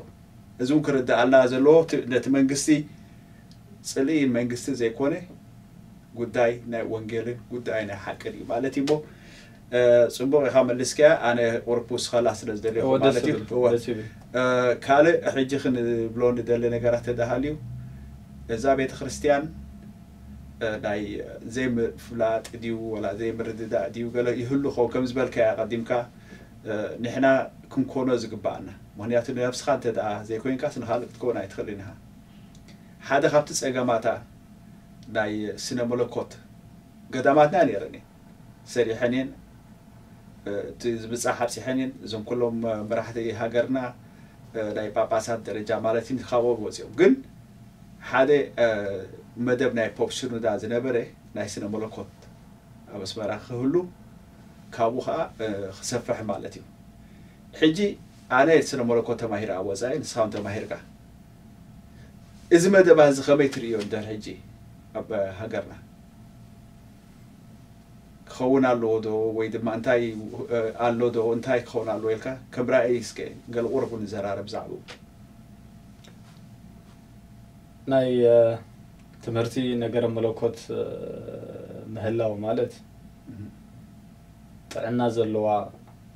እዚ እውን ክርዳኣልና ዘለዎ እቲ- ነቲ መንግስቲ ፅልኢ መንግስቲ ዘይኮነ ጉዳይ ናይ ወንጌልን ጉዳይ ናይ ሓቅን እዩ ማለት እዩ። እሞ እ፣ ፅቡቕ ኢኻ መሊስካያ። ኣነ ቁሩብ ክውስኸላ ስለ ዝደለኹ እወ፣ ደስ ማለት እዩ። ይብል፣ እወ። ደስ ይብል። እ፣ ካልእ ሕጂ ክንብሎ ንደሊ ነገራት ተዳሃልዩ እዛ ቤተ ክርስቲያን እ፣ ናይ ዘይምፍላጥ ድዩ ወላ ዘይምርድዳእ ድዩ ገለ ይህሉ ኸውን ከም ዝበልካያ ቀዲምካ እ፣ ንሕና ክንኮኖ ዝግባኣና። ምክንያቱ ንነብስኻ እንተ ደኣ ዘይኮይንካስ ንኻልእ ክትከውን ኣይትኽእልን ኢኻ። ሓደ ካብቲ ጸገማታ ናይ ስነ መለኮት ገዳማትና ነይረን እየን ሰሪሐን እየን። እቲ ዝብጻሕ ኣብጺሐን እየን። እዞም ኩሎም መራሕቲ ሃገርና ናይ ጳጳሳት ደረጃ ማለት እዩ ካብኦም ወፂኦም። ግን ሓደ መደብ ናይ ፖፕ ሽኑዳ ዝነበረ ናይ ስነ መለኮት ኣብ ኣስመራ ክህሉ ካብኡ ከዓ ክሰፍሕ ማለት እዩ። ሕጂ ኣነ ስነ መለኮት ተማሂረ ኣብ ወፃኢ ንስኻውን ተማሂርካ እዚ መደብ እዚ ከመይ ትርእዮ እንድሕር ሕጂ ኣብ ሃገርና ክኸውን ኣለዎ ዶ ወይ ድማ እንታይ ኣሎ ዶ እንታይ ክኸውን ኣለዎ ኢልካ ከም ራእይ እስከ ገለ ቁሩብ ንዘራረብ ብዛዕባኡ። ናይ ትምህርቲ ነገረ መለኮት ምህላው ማለት ጥዕና ዘለዋ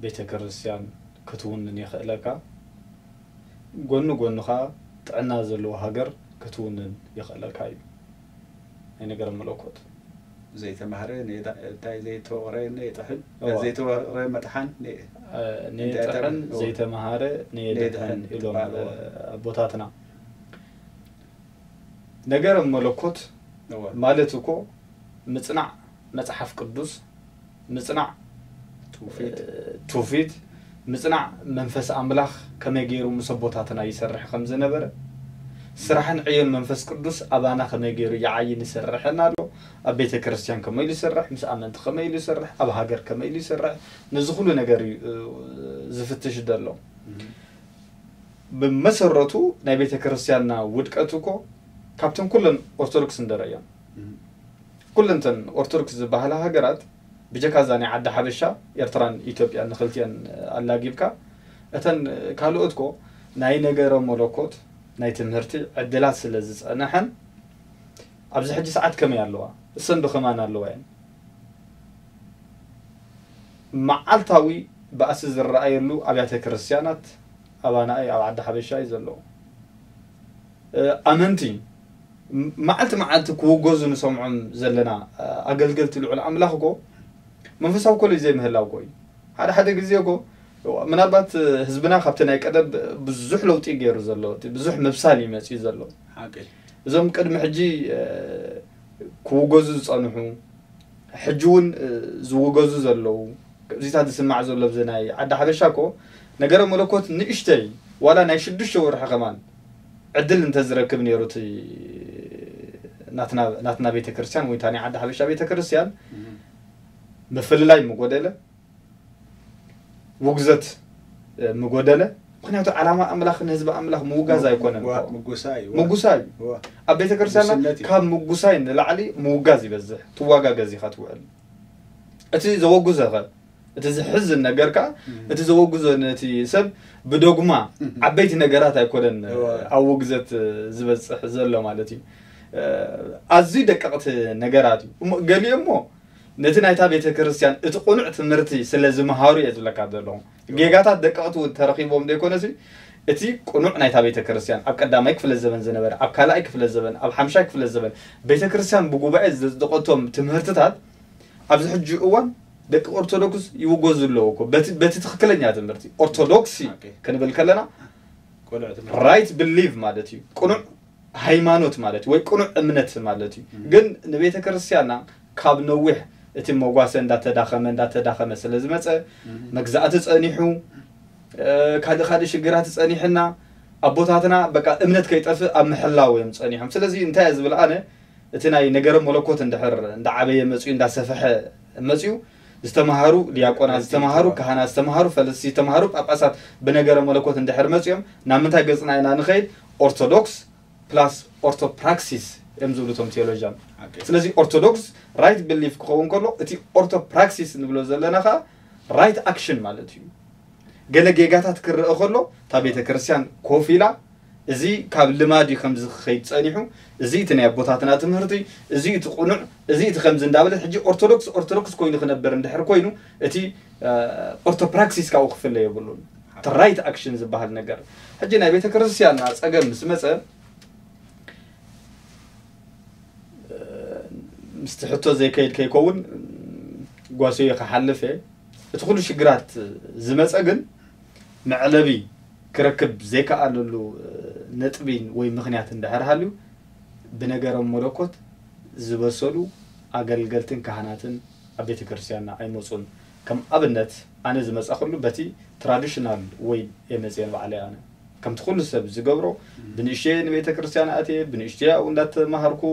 ቤተ ክርስቲያን ክትውንን የኽእለካ። ጎኒ ጎኒ ኸዓ ጥዕና ዘለዎ ሃገር ክትውንን የኽእለካ እዩ። ናይ ነገረ መለኮት ዘይተማህረ እንታይ ዘይተወቕረ የጥሕን ዘይተወቕረ መጥሓን ንየጥሕን ዘይተማሃረ ንየድሕን ኢሎም ኣቦታትና። ነገረ መለኮት ማለት እኮ ምጽናዕ መጽሓፍ ቅዱስ ምጽናዕ ትውፊት ምጽናዕ መንፈስ ኣምላኽ ከመይ ገይሩ ምስ ኣቦታትና ይሰርሕ ከም ዝነበረ ስራሕን ዕዮን መንፈስ ቅዱስ ኣባና ከመይ ገይሩ ይዓይን ይሰርሕን ኣሎ። ኣብ ቤተ ክርስቲያን ከመይ ኢሉ ይሰርሕ፣ ምስ ኣመንቲ ከመይ ኢሉ ይሰርሕ፣ ኣብ ሃገር ከመይ ኢሉ ይሰርሕ፣ ነዚ ኩሉ ነገር እዩ ዝፍትሽ ዘሎ። ብመሰረቱ ናይ ቤተ ክርስቲያንና ውድቀት እኮ ካብተን ኩለን ኦርቶዶክስ እንደረእዮን ኩለንተን ኦርቶዶክስ ዝበሃላ ሃገራት ብጀካ እዛ ናይ ዓዲ ሓበሻ ኤርትራን ኢትዮጵያን ንክልቲአን ኣላጊብካ እተን ካልኦት ኮ ናይ ነገረ መለኮት ናይ ትምህርቲ ዕድላት ስለ ዝጸነሐን ኣብዚ ሕጂ ሰዓት ከመይ ኣለዋ? እሰን ብኸማን ኣለዋ እየን። መዓልታዊ ባእሲ ዝረኣየሉ ኣብያተ ክርስቲያናት ኣባና እዩ፣ ኣብ ዓዲ ሓበሻ እዩ ዘለዎ። ኣመንቲ መዓልቲ መዓልቲ ክውገዙ ንሰምዖም ዘለና ኣገልገልቲ ልዑል ኣምላኽ እኮ መንፈሳዊ ኮሌጅ ዘይምህላው እኮ እዩ። ሓደ ሓደ ግዜ እኮ ምናልባት ህዝብና ካብቲ ናይ ቀደም ብዙሕ ለውጢ ገይሩ ዘሎ ብዙሕ ምብሳል እዩ መፅዩ ዘሎ። እዞም ቅድሚ ሕጂ ክውገዙ ዝፀንሑ ሕጂ እውን ዝውገዙ ዘለዉ እዚታት ዝስማዕ ዘሎ ብዚ ናይ ዓዲ ሓበሻ እኮ ነገረ መለኮት ንእሽተይ ዋላ ናይ ሽዱሽተ ወርሒ ከማን ዕድል እንተዝረክብ ነይሩ እቲ ናትና ቤተክርስትያን ወይ እታ ናይ ዓዲ ሓበሻ ቤተክርስትያን ምፍልላይ ምጎደለ ውግዘት ምጎደለ። ምክንያቱ ዓላማ ኣምላኽ ንህዝቢ ኣምላኽ ምውጋዝ ኣይኮነን። ምጉሳ እዩ። ኣብ ቤተክርስትያንና ካብ ምጉሳይ ንላዕሊ ምውጋዝ ይበዝሕ። ትዋጋገዝ ኢኻ ትውዕል። እቲ ዘወጉዘኸ እቲ ዝሕዝን ነገር ከኣ እቲ ዘወግዞ ነቲ ሰብ ብዶግማ ዓበይቲ ነገራት ኣይኮነን ኣብ ውግዘት ዝበጽሕ ዘሎ ማለት እዩ። ኣዝዩ ደቀቕቲ ነገራት እዩ። እሞ ገሊኦም እሞ ነቲ ናይታ ቤተ ክርስቲያን እቲ ቅኑዕ ትምህርቲ ስለ ዝመሃሩ እየ ዝብለካ ዘለኹ። ጌጋታት ደቀቕቲ እውን ተረኺቦም ዘይኮነሲ እቲ ቅኑዕ ናይታ ቤተ ክርስቲያን ኣብ ቀዳማይ ክፍለ ዘበን ዝነበረ፣ ኣብ ካልኣይ ክፍለ ዘበን፣ ኣብ ሓምሻይ ክፍለ ዘበን ቤተ ክርስቲያን ብጉባኤ ዘጽደቐቶም ትምህርትታት ኣብዚ ሕጂ እዋን ደቂ ኦርቶዶክስ ይውገዙ ኣለዉ እኮ። በቲ በቲ ትኽክለኛ ትምህርቲ ኦርቶዶክሲ ክንብል ከለና ራይት ብሊቭ ማለት እዩ። ቅኑዕ ሃይማኖት ማለት ወይ ቅኑዕ እምነት ማለት እዩ። ግን ንቤተ ክርስቲያንና ካብ ነዊሕ እቲ መጓሰ እንዳተዳኸመ እንዳተዳኸመ ስለ ዝመፀ መግዛእቲ ፀኒሑ ካልእ ካልእ ሽግራት ፀኒሕና ኣቦታትና በቃ እምነት ከይጠፍእ ኣብ ምሕላው እዮም ፀኒሖም። ስለዚ እንታይ እየ ዝብል ኣነ እቲ ናይ ነገረ መለኮት እንድሕር እንዳዓበየ መፅዩ እንዳሰፈሐ መፅዩ ዝተምሃሩ ዲያቆናት ዝተምሃሩ ካህናት ዝተምሃሩ ፈለስቲ ዝተምሃሩ ጳጳሳት ብነገረ መለኮት እንድሕር መፅዮም ናብ ምንታይ ገፅና ኢና ንኸይድ? ኦርቶዶክስ ፕላስ ኦርቶፕራክሲስ እዮም ዝብሉ እቶም ቴዎሎጂያን። ስለዚ ኦርቶዶክስ ራይት ብሊፍ ክኸውን ከሎ እቲ ኦርቶፕራክሲስ ንብሎ ዘለና ከዓ ራይት ኣክሽን ማለት እዩ። ገለ ጌጋታት ክረአ ከሎ እታ ቤተ ክርስቲያን ኮፍ ኢላ እዚ ካብ ልማድ እዩ ከምዚ ክኸይድ ጸኒሑ፣ እዚ እቲ ናይ ኣቦታትና ትምህርቲ፣ እዚ እቲ ቅኑዕ፣ እዚ እቲ ከምዚ እንዳበለት ሕጂ ኦርቶዶክስ ኦርቶዶክስ ኮይኑ ክነበር እንድሕር ኮይኑ እቲ ኦርቶፕራክሲስ ካብኡ ክፍለ የብሉን። እቲ ራይት ኣክሽን ዝበሃል ነገር ሕጂ ናይ ቤተ ክርስቲያንና ጸገም ምስ መጸ ምስቲ ሕቶ ዘይከይድ ከይከውን ጓሶየ ክሓልፍ እየ። እቲ ኩሉ ሽግራት ዝመጸ ግን መዕለቢ ክረክብ ዘይከኣለሉ ነጥቢ ወይ ምኽንያት እንድሕር ሃልዩ ብነገረ መለኮት ዝበሰሉ ኣገልገልትን ካህናትን ኣብ ቤተ ክርስቲያንና ኣይመጹን። ከም ኣብነት ኣነ ዝመጻኹሉ በቲ ትራዲሽናል ወይ እየ መጽየ ንባዕለይ ኣነ ከምቲ ኩሉ ሰብ ዝገብሮ ብንእሽተየ ንቤተ ክርስቲያን ኣትየ ብንእሽተየ ኣብኡ እንዳተማሃርኩ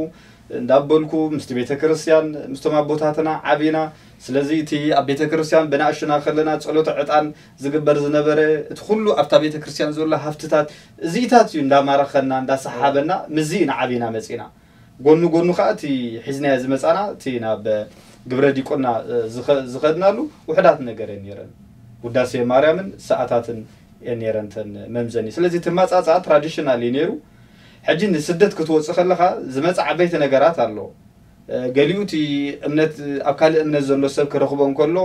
እንዳበልኩ ምስቲ ቤተ ክርስቲያን ምስቶም ኣቦታትና ዓቢና። ስለዚ እቲ ኣብ ቤተ ክርስቲያን ብንእሽና ከለና ጸሎተ ዕጣን ዝግበር ዝነበረ እቲ ኩሉ ኣብታ ቤተ ክርስቲያን ዘሎ ሃፍትታት እዚታት እዩ እንዳማረኸና እንዳሰሓበና ምዚ ኢና ዓቢና መጺና። ጎኑ ጎኑ ከዓ እቲ ሒዝናዮ ዝመጻና እቲ ናብ ግብረ ዲቁና ዝኸድናሉ ውሕዳት ነገር እየን ነይረን። ውዳሴ ማርያምን ሰኣታትን እየን ነይረን ተን መምዘኒ። ስለዚ እቲ ማጻጻ ትራዲሽናል እዩ ነይሩ። ሕጂ ንስደት ክትወጽእ ከለኻ ዝመጽእ ዓበይቲ ነገራት ኣሎ። ገሊኡ እቲ እምነት ኣብ ካልእ እምነት ዘሎ ሰብ ክረኽቦ እንከሎ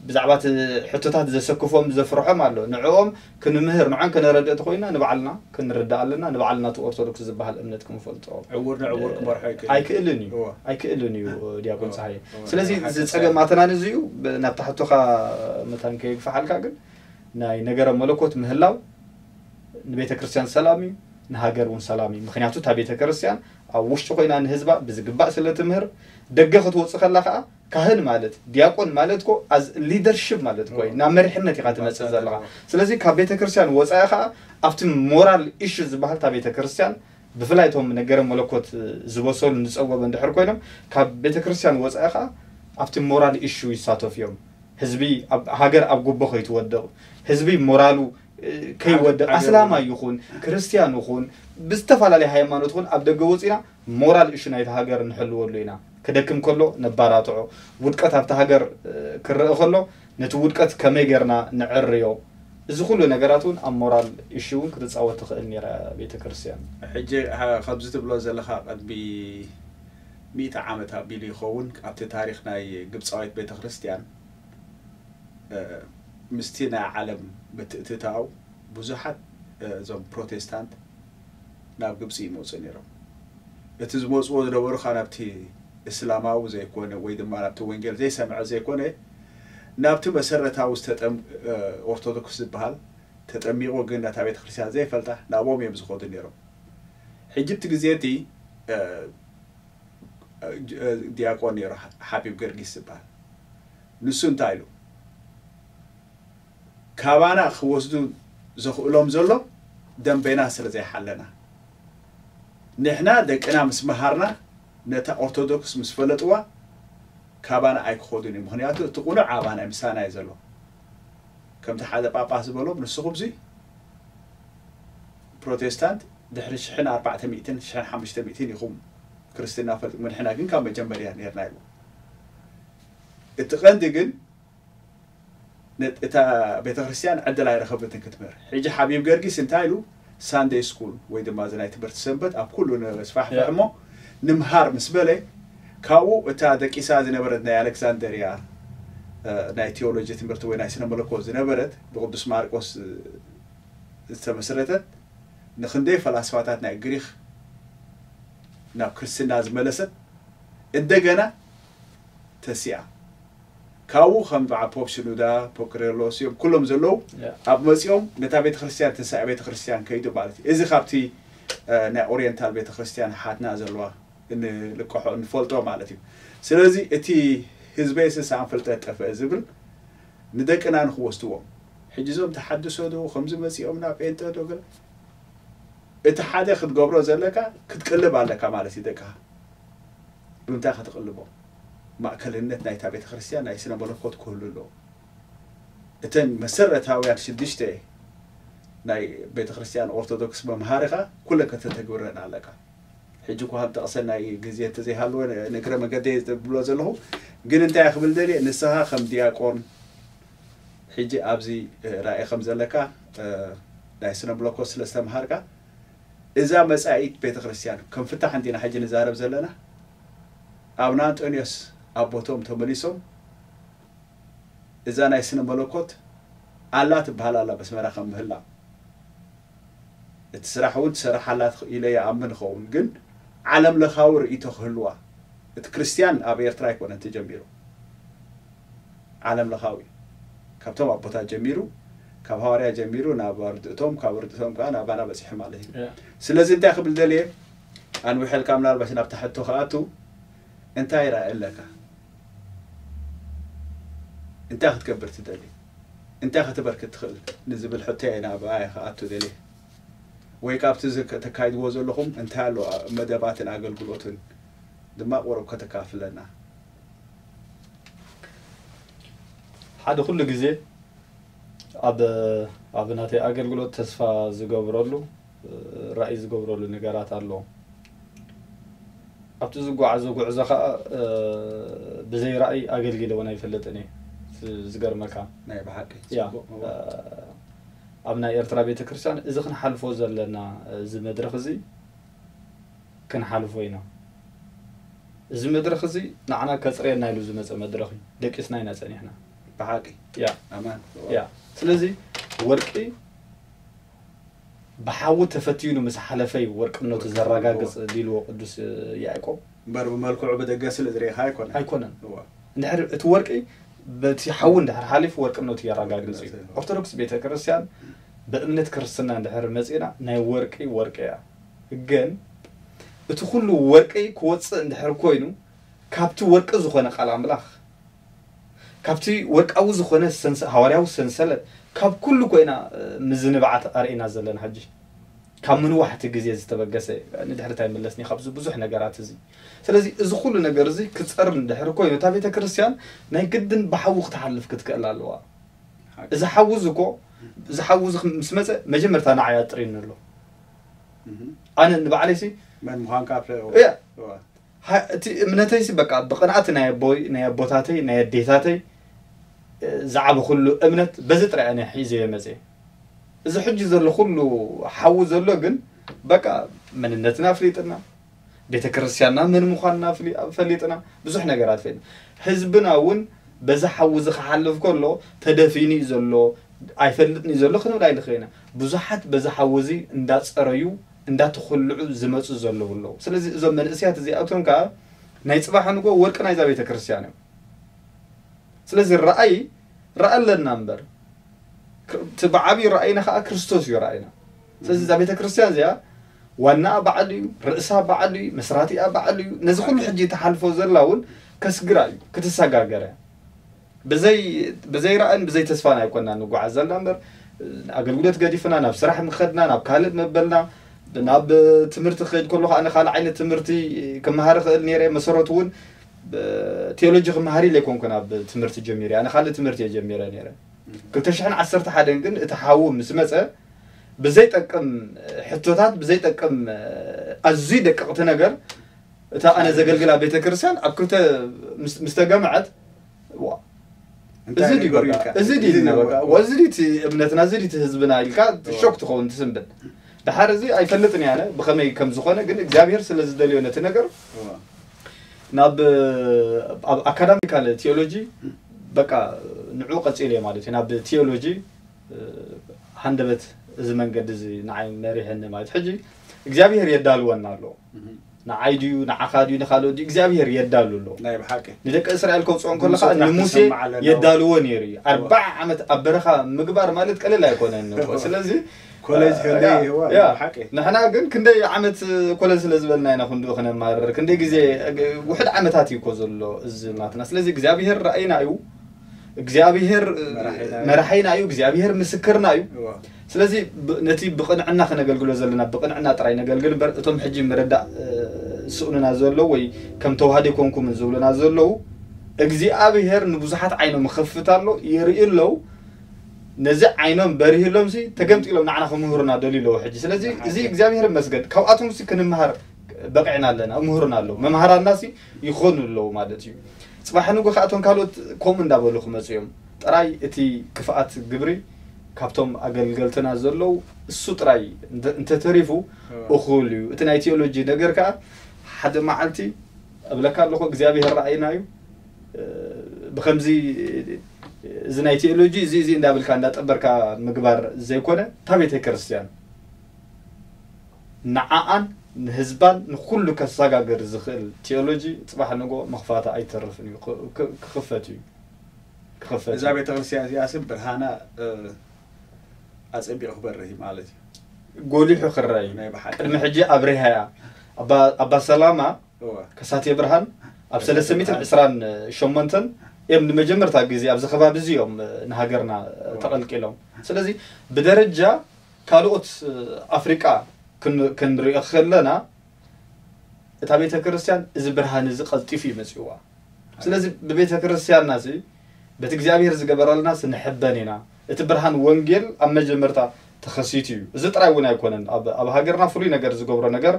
ብዛዕባ እቲ ሕቶታት ዘሰክፎም ዘፍርሖም ኣሎ። ንዕኦም ክንምህር ንዖን ከነረድእ ተኮይና ንባዕልና ክንርዳእ ኣለና። ንባዕልና እቲ ኦርቶዶክስ ዝበሃል እምነት ክንፈልጦ ዕውር ንዕውር ክመርሖ ኣይክእልን። ኣይክእልን እዩ። እወ። ኣይክእልን እዩ ዲያቆን እወ። ፀሃየ። እወ። ስለዚ ናይ ሓቂ እዚ ፀገም ኣተናን እዚ እዩ። ብ- ናብታ ሕቶኻ መታን ከየግፋሓልካ ግን ናይ ነገረ መለኮት ምህላው ንቤተ ክርስቲያን ሰላም እዩ፣ ንሃገር እውን ሰላም እዩ። ምክንያቱ እታ ቤተ ክርስቲያን ኣብ ውሽጢ ኮይና ንህዝባ ብዝግባእ ስለ ትምህር ደገ ክትወፅእ ከላ ከዓ ካህን ማለት ዲያቆን ማለት ኮ ኣዝ ሊደርሽፕ ማለት ኮ ናብ መሪሕነት ኢኻ ትመፅእ ዘለኻ። ስለዚ ካብ ቤተ ክርስቲያን ወፃኢ ከዓ ኣብቲ ሞራል ኢሹ ዝበሃል እታ ቤተ ክርስቲያን ብፍላይ እቶም ነገረ መለኮት ዝበሰሉ ዝፀወበ እንድሕር ኮይኖም ካብ ቤተ ክርስቲያን ወፃኢ ከዓ ኣብቲ ሞራል ኢሹ ይሳተፉ እዮም። ህዝቢ ኣብ ሃገር ኣብ ጉቦ ከይትወድቕ ህዝቢ ሞራሉ ከይወድቕ ኣስላማይ ይኹን ክርስቲያን ይኹን ብዝተፈላለየ ሃይማኖት ይኹን ኣብ ደገ ወፂና ሞራል እሹ ናይቲ ሃገር ንሕልወሉ ኢና። ክደክም ከሎ ነባራትዖ፣ ውድቀት ኣብቲ ሃገር ክረአ ከሎ ነቲ ውድቀት ከመይ ጌርና ንዕርዮ፣ እዚ ኩሉ ነገራት እውን ኣብ ሞራል እሹ እውን ክትፃወት ትኽእል ነይራ ቤተ ክርስቲያን። ሕጂ ከምዚ ትብሎ ዘለኻ ቅድሚ ሚእቲ ዓመት ኣቢሉ ይኸውን ኣብቲ ታሪኽ ናይ ግብፃዊት ቤተ ክርስቲያን ምስቲ ናይ ዓለም ምትእትታው ብዙሓት እዞም ፕሮቴስታንት ናብ ግብፂ ይመፁ ነይሮም። እቲ ዝመፅዎ ዝነበሩ ከዓ ናብቲ እስላማዊ ዘይኮነ ወይ ድማ ናብቲ ወንጌል ዘይሰምዐ ዘይኮነ ናብቲ መሰረታዊ ዝተጠም ኦርቶዶክስ ዝበሃል ተጠሚቑ ግን ነታ ቤተክርስትያን ዘይፈልጣ ናብኦም እዮም ዝኸዱ ነይሮም። ሕጂ እቲ ግዜ እቲ ዲያቆን ነይሩ ሓቢብ ገርጊስ ዝበሃል። ንሱ እንታይ ኢሉ? ካባና ክወስዱ ዘኽእሎም ዘሎ ደንበና ስለ ዘይሓለና፣ ንሕና ደቅና ምስ መሃርና ነታ ኦርቶዶክስ ምስ ፈለጥዋ ካባና ኣይክኸዱን እዩ። ምኽንያቱ እቲ ቁኑዕ ኣባና ምሳና እዩ ዘሎ። ከምቲ ሓደ ጳጳስ ዝበሎም ንስኹምሲ ፕሮቴስታንት ድሕሪ ሽሕን ኣርባዕተ ሚእትን ሽሕን ሓሙሽተ ሚእትን ኢኹም ክርስትና ፈልጥኩም፣ ንሕና ግን ካብ መጀመርያ ነርና ኢሉ። እቲ ቀንዲ ግን እታ ቤተክርስትያን ዕድል ኣይረኸበትን ክትምህር። ሕጂ ሓቢብ ገርጊስ እንታይ ኢሉ? ሳንደይ ስኩል ወይ ድማ እዚ ናይ ትምህርቲ ሰንበት ኣብ ኩሉ ነስፋሕፍሕ እሞ ንምሃር ምስ በለ፣ ካብኡ እታ ደቂሳ ዝነበረት ናይ ኣሌክሳንደርያ ናይ ቴዎሎጂ ትምህርቲ ወይ ናይ ስነ መለኮት ዝነበረት ብቅዱስ ማርቆስ ዝተመስረተት፣ ንክንደይ ፈላስፋታት ናይ ግሪክ ናብ ክርስትና ዝመለሰት እንደገና ተሲኣ። ካብኡ ከም በዓ ፖፕ ሽኑዳ፣ ፖፕ ኪሪሎስ እዮም ኩሎም ዘለዉ ኣብ መጺኦም ነታ ቤተክርስትያን ትንሳኤ ቤተክርስትያን ከይዱ ማለት እዩ። እዚ ካብቲ ናይ ኦሪየንታል ቤተክርስትያን ሓትና ዘለዋ እንልቀሖ እንፈልጦ ማለት እዩ። ስለዚ እቲ ህዝበይ ስሳን ፍልጠት ጠፍአ ዝብል ንደቅና ንክወስድዎም፣ ሕጂ እዞም ተሓድሶ ዶ ከምዚ መጺኦም ናብ ጴንጠ ዶ ገለ፣ እቲ ሓደ ክትገብሮ ዘለካ ክትቅልብ ኣለካ ማለት እዩ። ደቅኻ ብምንታይ ክትቅልቦም? ማእከልነት ናይታ ቤተክርስትያን ናይ ስነ መለኮት ክህሉ ኣለዎ። እተን መሰረታውያን ሽዱሽተ ናይ ቤተክርስትያን ኦርቶዶክስ መምሃሪኻ ኩለን ከተተግብረን ኣለካ። ሕጂ እኳ ከም ጠቕሰ ናይ ግዜ እንተዘይሃለወ ንእግረ መገደይ ዝብሎ ዘለኹ ግን እንታይ ክብል ደልየ፣ ንስኻ ከም ዲያቆን ሕጂ ኣብዚ ራእይ ከም ዘለካ ናይ ስነ ብሎኮ ስለ ዝተምሃርካ እዛ መጻኢት ቤተክርስትያን ከም ፍታሕ እንዲና ሕጂ ንዛረብ ዘለና። ኣብ ናንጦንዮስ ኣቦቶም ተመሊሶም እዛ ናይ ስነ መለኮት ኣላ ትበሃል ኣላ በስመራ ከም ምህላ እቲ ስራሕ እውን ትሰርሓላ ኢለ ይኣምን ኸውን ግን ዓለም ለኻዊ ርእይቶ ክህልዋ እቲ ክርስትያን ኣብ ኤርትራ ኣይኮነን ተጀሚሩ ዓለም ለኻዊ ካብቶም ኣቦታት ጀሚሩ ካብ ሃዋርያ ጀሚሩ ናብ ኣርድእቶም ካብ ኣርድእቶም ከዓ ናባና በፂሑ ማለት እዩ ስለዚ እንታይ ክብል ደልየ ኣንዊሐልካ ምናልባሽ ናብታ ሕቶ ክኣቱ እንታይ ራእ ኣለካ እንታይ ክትገብር ትደሊ እንታይ ከተበርክት ትኽእል ንዝብል ሕቶ እየ ናብ ኣየ ክኣቱ ደልየ ወይ ካብቲ ተካይድዎ ዘለኹም እንታይ ኣሎ መደባትን ኣገልግሎትን ድማ ቁሩብ ከተካፍለና ሓደ ኩሉ ግዜ ኣብ ኣብ ናተይ ኣገልግሎት ተስፋ ዝገብረሉ ራእይ ዝገብረሉ ነገራት ኣሎ ኣብቲ ዝጓዓዞ ጉዕዞ ከዓ ብዘይ ራእይ ኣገልጊለ እውን ኣይፈልጥን እየ ዝገርመካ ናይ ብሓቂ ያ ኣብ ናይ ኤርትራ ቤተክርስትያን እዚ ክንሓልፎ ዘለና እዚ መድረክ እዚ ክንሓልፎ ኢና እዚ መድረክ እዚ ንዓና ከፅርየና ኢሉ ዝመፀ መድረክ እዩ ደቂስና ኢና ፀኒሕና ብሓቂ ያ ኣማን ያ ስለዚ ወርቂ ብሓዊ ተፈትዩ ምስ ሓለፈ እዩ ወርቅነቱ ዘረጋግፅ ዲልዎ ቅዱስ ያዕቆብ እምበር ብመልክዑ ብደገ ስለ ዝሪኢኻ ኣይኮነ ኣይኮነን እዋ እንድሕር እቲ ወርቂ በቲ ሓዊ እንድሕር ሓሊፉ ወርቅነቱ የረጋግፅ እዩ ኦርቶዶክስ ቤተ ክርስቲያን ብእምነት ክርስትና እንድሕር መፂና ናይ ወርቂ ወርቂ እያ ግን እቲ ኩሉ ወርቂ ክወፅእ እንድሕር ኮይኑ ካብቲ ወርቂ ዝኾነ ቃል ኣምላኽ ካብቲ ወርቃዊ ዝኾነ ሰንሰ- ሃዋርያዊ ሰንሰለት ካብ ኩሉ ኮይና ምዝንባዓት ኣርእና ዘለና ሕጂ ካብ ምንዋሕቲ ግዜ ዝተበገሰ ንድሕርታ ይመለስኒ ካብዚ ብዙሕ ነገራት እዚ ስለዚ እዚ ኩሉ ነገር እዚ ክፀር እንድሕር ኮይኑ እታ ቤተ ክርስቲያን ናይ ግድን ብሓዊ ክትሓልፍ ክትክእል ኣለዋ እዚ ሓዊ እዚ እኮ እዚ ሓዊ እዚ ምስ መፀ መጀመርታ ንዓይ ኣጥሪኒ ኣሎ ኣነ ንባዕለይሲ መን ምዃንካ እያ እቲ እምነተይሲ በቃ ብቅንኣት ናይ ኣቦይ ናይ ኣቦታተይ ናይ ኣዴታተይ ዝዓበ ኩሉ እምነት በዚ ጥራይ ኣነ ሒዘ እየ መፅየ እዚ ሕጂ ዘሎ ኩሉ ሓዊ ዘሎ ግን በቃ መንነትና ኣፍሊጥና ቤተክርስትያንና መን ምዃንና ኣፍሊ- ፈሊጥና ብዙሕ ነገራት ፈሊጥና ህዝብና እውን በዚ ሓዊ እዚ ክሓልፍ ከሎ ተደፊኑ እዩ ዘሎ ኣይፈልጥን እዩ ዘሎ ክንብል ኣይንኽእል ኢና ብዙሓት በዚ ሓዊ እዚ እንዳፀረዩ እንዳተኮልዑ ዝመፁ ዘለዉ ኣለዉ ስለዚ እዞም መንእስያት እዚኣቶም ከዓ ናይ ፅባሕ ንጎ ወርቂ ናይዛ ቤተ ክርስትያን እዮም ስለዚ ረኣይ ረኣ ኣለና እምበር እቲ ብዓብዪ ረኣይና ከዓ ክርስቶስ እዩ ረኣይና ስለዚ እዛ ቤተ ክርስትያን እዚኣ ዋናኣ በዓል እዩ ርእሳ በዓል እዩ መስራቲኣ በዓል እዩ ነዚ ኩሉ ሕጂ ተሓልፎ ዘላ እውን ከስግራ እዩ ክትሰጋገረ ብዘይ ብዘይ ራእን ብዘይ ተስፋን ኣይኮና ንጓዓዝ ዘለና እምበር ኣገልግሎት ገዲፍና ናብ ስራሕ ምኸድና ናብ ካልእ መበልና ናብ ትምህርቲ ክኸድ ከሎ ከዓ ንካልእ ዓይነት ትምህርቲ ክመሃር ክእል ነረ መሰረቱ እውን ቴዎሎጂ ክመሃር ኢለ ይኮንኩ ናብ ትምህርቲ ጀሚረ ኣነ ካልእ ትምህርቲ እየ ጀሚረ ነረ ክልተ ሽሕን ዓሰርተ ሓደን ግን እቲ ሓዉ ምስ መፀ ብዘይጠቅም ሕቶታት ብዘይጠቅም ኣዝዩ ደቀቕቲ ነገር እታ ኣነ ዘገልግላ ቤተክርስትያን ኣብ ክልተ ምስ ተገምዐት እንታይ እዚ ድዩ ነገሩ በቃ? ኢልካ? እዚ ድዩ እዚ ኢልና ነው በቃ? በቃ። ወዚ ድዩ እቲ እምነትና፣ እዚ ድዩ እቲ ህዝብና ኢልካ እዎ። ሾክ ትኸውን፣ ትስንብድ። ድሓር እዚ ኣይፈልጥን እየ ኣነ ብኸመይ ከም ዝኾነ፣ ግን እግዚኣብሔር ስለ ዝደልዮ ነቲ ነገር እዎ። ናብ፣ ኣብ ኣካዳሚካል ቲዮሎጂ በቃ ንዑ ቀጺለ ማለት እዩ። ናብ ቲዮሎጂ፣ እ፣ ሃንደበት እዚ መንገዲ እዚ ንዓይ መሪሕኒ ማለት። ሕጂ እግዚኣብሔር የዳልወና ኣሎ። እህ። ንዓይ ድዩ፣ ንዓኻ ድዩ፣ ንኻልኦት ድዩ፣ እግዚኣብሔር የዳሉ ኣሎ። ናይ ብሓቂ። ንደቂ እስራኤል ከውፅኦም ከለኻ ንሙሴ ንስራሕቲ ንሙሴ ሰማዕ ኣለና። የዳልዎ ነይሩ እዩ። ኣርባዓ ዓመት ኣብ በረኻ ምግባር ማለት ቀለል ኣይኮነን እኮ። እዎ። ስለዚ፣ ኮሌጅ እ፣ ክንደይ ያ፣ ይህዋ፣ ያ። ናይ ብሓቂ። ንሕና ግን ክንደይ ዓመት ኮለል ስለ ዝበልና ኢና ክንድኡ ክነማርር። ክንደይ ግዜ፣ እ፣ ውሕድ ዓመታት እዩ እኮ ዘሎ እዚ ናትና። ስለዚ እግዚኣብሔር ራእይና እዩ። እግዚኣብሔር፣ እ፣ መራሒና እዩ። መራሒና እዩ። እግዚኣብሔር ምስክርና እዩ። እዎ። ስለዚ ብ-፣ ነቲ ብቕንዕና ክነገልግሎ ዘለና ብቕንዕና ጥራይ ነገልግል እምበር፣ እቶም ሕጂ ምርዳእ፣ እ፣ ዝስእኑና ዘለዉ ወይ ከም ተዋህዶ ኣይኮንኩምን ዝብሉና ዘለዉ፣ እግዚኣብሔር ንብዙሓት ዓይኖም ይኸፍት ኣሎ፣ ይርኢ ኣለዉ። ነዚ ዓይኖም በሪህሎምሲ ተገምጢሎም ንዓና ክምህሩና ደልዩ ኣለዉ ሕጂ። ስለዚ እዚ ብሓቂ። እግዚኣብሔር ይመስገን። ካብኣቶምሲ ክንምሃር በቂዕና ኣለና፣ እምህሩና ኣለዉ። መምሃራናሲ ይኾኑ ኣለዉ ማለት እዩ። ጽባሕ ንጎ ከኣ እቶም ካልኦት ከምኡ እንዳበሉ ክመጹ እዮም። ጥራይ እቲ ክፍኣት ግብሪ ካብቶም ኣገልገልትና ዘለዉ እሱ ጥራይ እንተ-፣ እንተተሪፉ እዎ። እኹል እዩ። እቲ ናይ ቲዮሎጂ ነገር ከኣ ሓደ መዓልቲ እብለካ ኣለኹ እግዚኣብሔር ራእይና እዩ። እ፣ ብኸምዚ እዚ ናይ ቲዮሎጂ እዚ፣ እዚ እንዳበልካ እንዳጠበርካ ምግባር ዘይኮነ፣ እታ ቤተ ክርስቲያን ንዓኣን ንህዝባን ንኹሉ ከሰጋግር ዝኽእል ቲዮሎጂ ጽባሕ ንጎ ምኽፋታ ኣይተርፍን እዩ። ክ-፣ ክ-፣ ክኽፈት እዩ። ክኽፈት እዛ እዩ። ቤተክርስትያን እዚኣስ ብርሃና፣ እ፣ ኣጸቢቑ ክበርህ እዩ ማለት እዩ። ጎሊሑ ክረአ እዩ። ናይ ብሓቂ። ቅድሚ ሕጂ ኣብሪሃያ። ኣባ፣ ኣባ ሰላማ እዋ። ከሳቴ ብርሃን ኣብ ከሳቴ ሰለስተ ሚእትን ዕስራን ሸሞንተን እዮም ንመጀመርታ ግዜ ኣብዚ ከባቢ እዚ እዮም ንሃገርና እዋ። ተቐልቂሎም። ስለዚ ብደረጃ ካልኦት ኣፍሪቃ ክን-፣ ክንሪኦ ከለና እታ ቤተ ክርስቲያን እዚ ብርሃን እዚ ቀልጢፉ እዩ መጺእዋ። ስለዚ ብቤተ ክርስቲያንና እዚ በቲ እግዚኣብሔር ዝገበረልና ንሕበን ኢና። እቲ ብርሃን ወንጌል ኣብ መጀመርታ ተኸሲቱ እዩ። እዚ ጥራይ እውን ኣይኮነን። ኣብ፣ ኣብ ሃገርና ፍሉይ ነገር ዝገብሮ ነገር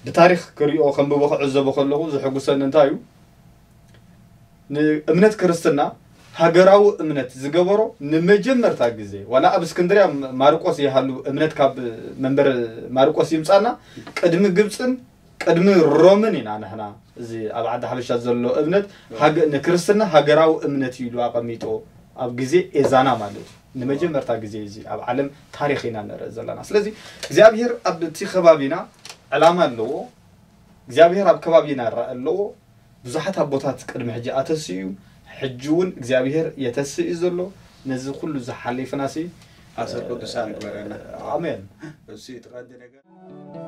ብታሪኽ ክሪኦ ከንብቦ ክዕዘቦ ከለኹ ዝሕጉሰኒ እንታይ እዩ? ንእምነት ክርስትና ሃገራዊ እምነት ዝገበሮ ንመጀመርታ ግዜ ዋላ ኣብ እስክንድርያ ማርቆስ ይሃሉ እምነት ካብ መንበር ማርቆስ ይምጻና ቅድሚ ግብጽን ቅድሚ ሮምን ኢና ንሕና እዚ ኣብ ዓዲ ሓበሻ ዘሎ እምነት ሃገ-፣ ንክርስትና ሃገራዊ እምነት እዩ ኢሉ ኣቐሚጦ ኣብ ግዜ ኤዛና ማለት እዩ። ንመጀመርታ ግዜ እዚ ኣብ ዓለም ታሪኽ ኢና ንርኢ ዘለና። ስለዚ እግዚኣብሔር ኣብቲ ከባቢና ዕላማ ኣለዎ። እግዚኣብሔር ኣብ ከባቢና ራኢ ኣለዎ። ብዙሓት ኣቦታት ቅድሚ ሕጂ ኣተስኡ እዩ። ሕጂ እውን እግዚኣብሔር የተስእ እዩ ዘሎ። ነዚ ኩሉ ዝሓሊፍናሲ ኣሰር ቅዱሳን ይግበረና። ኣሜን። እሱ እቲ ቀንዲ ነገር።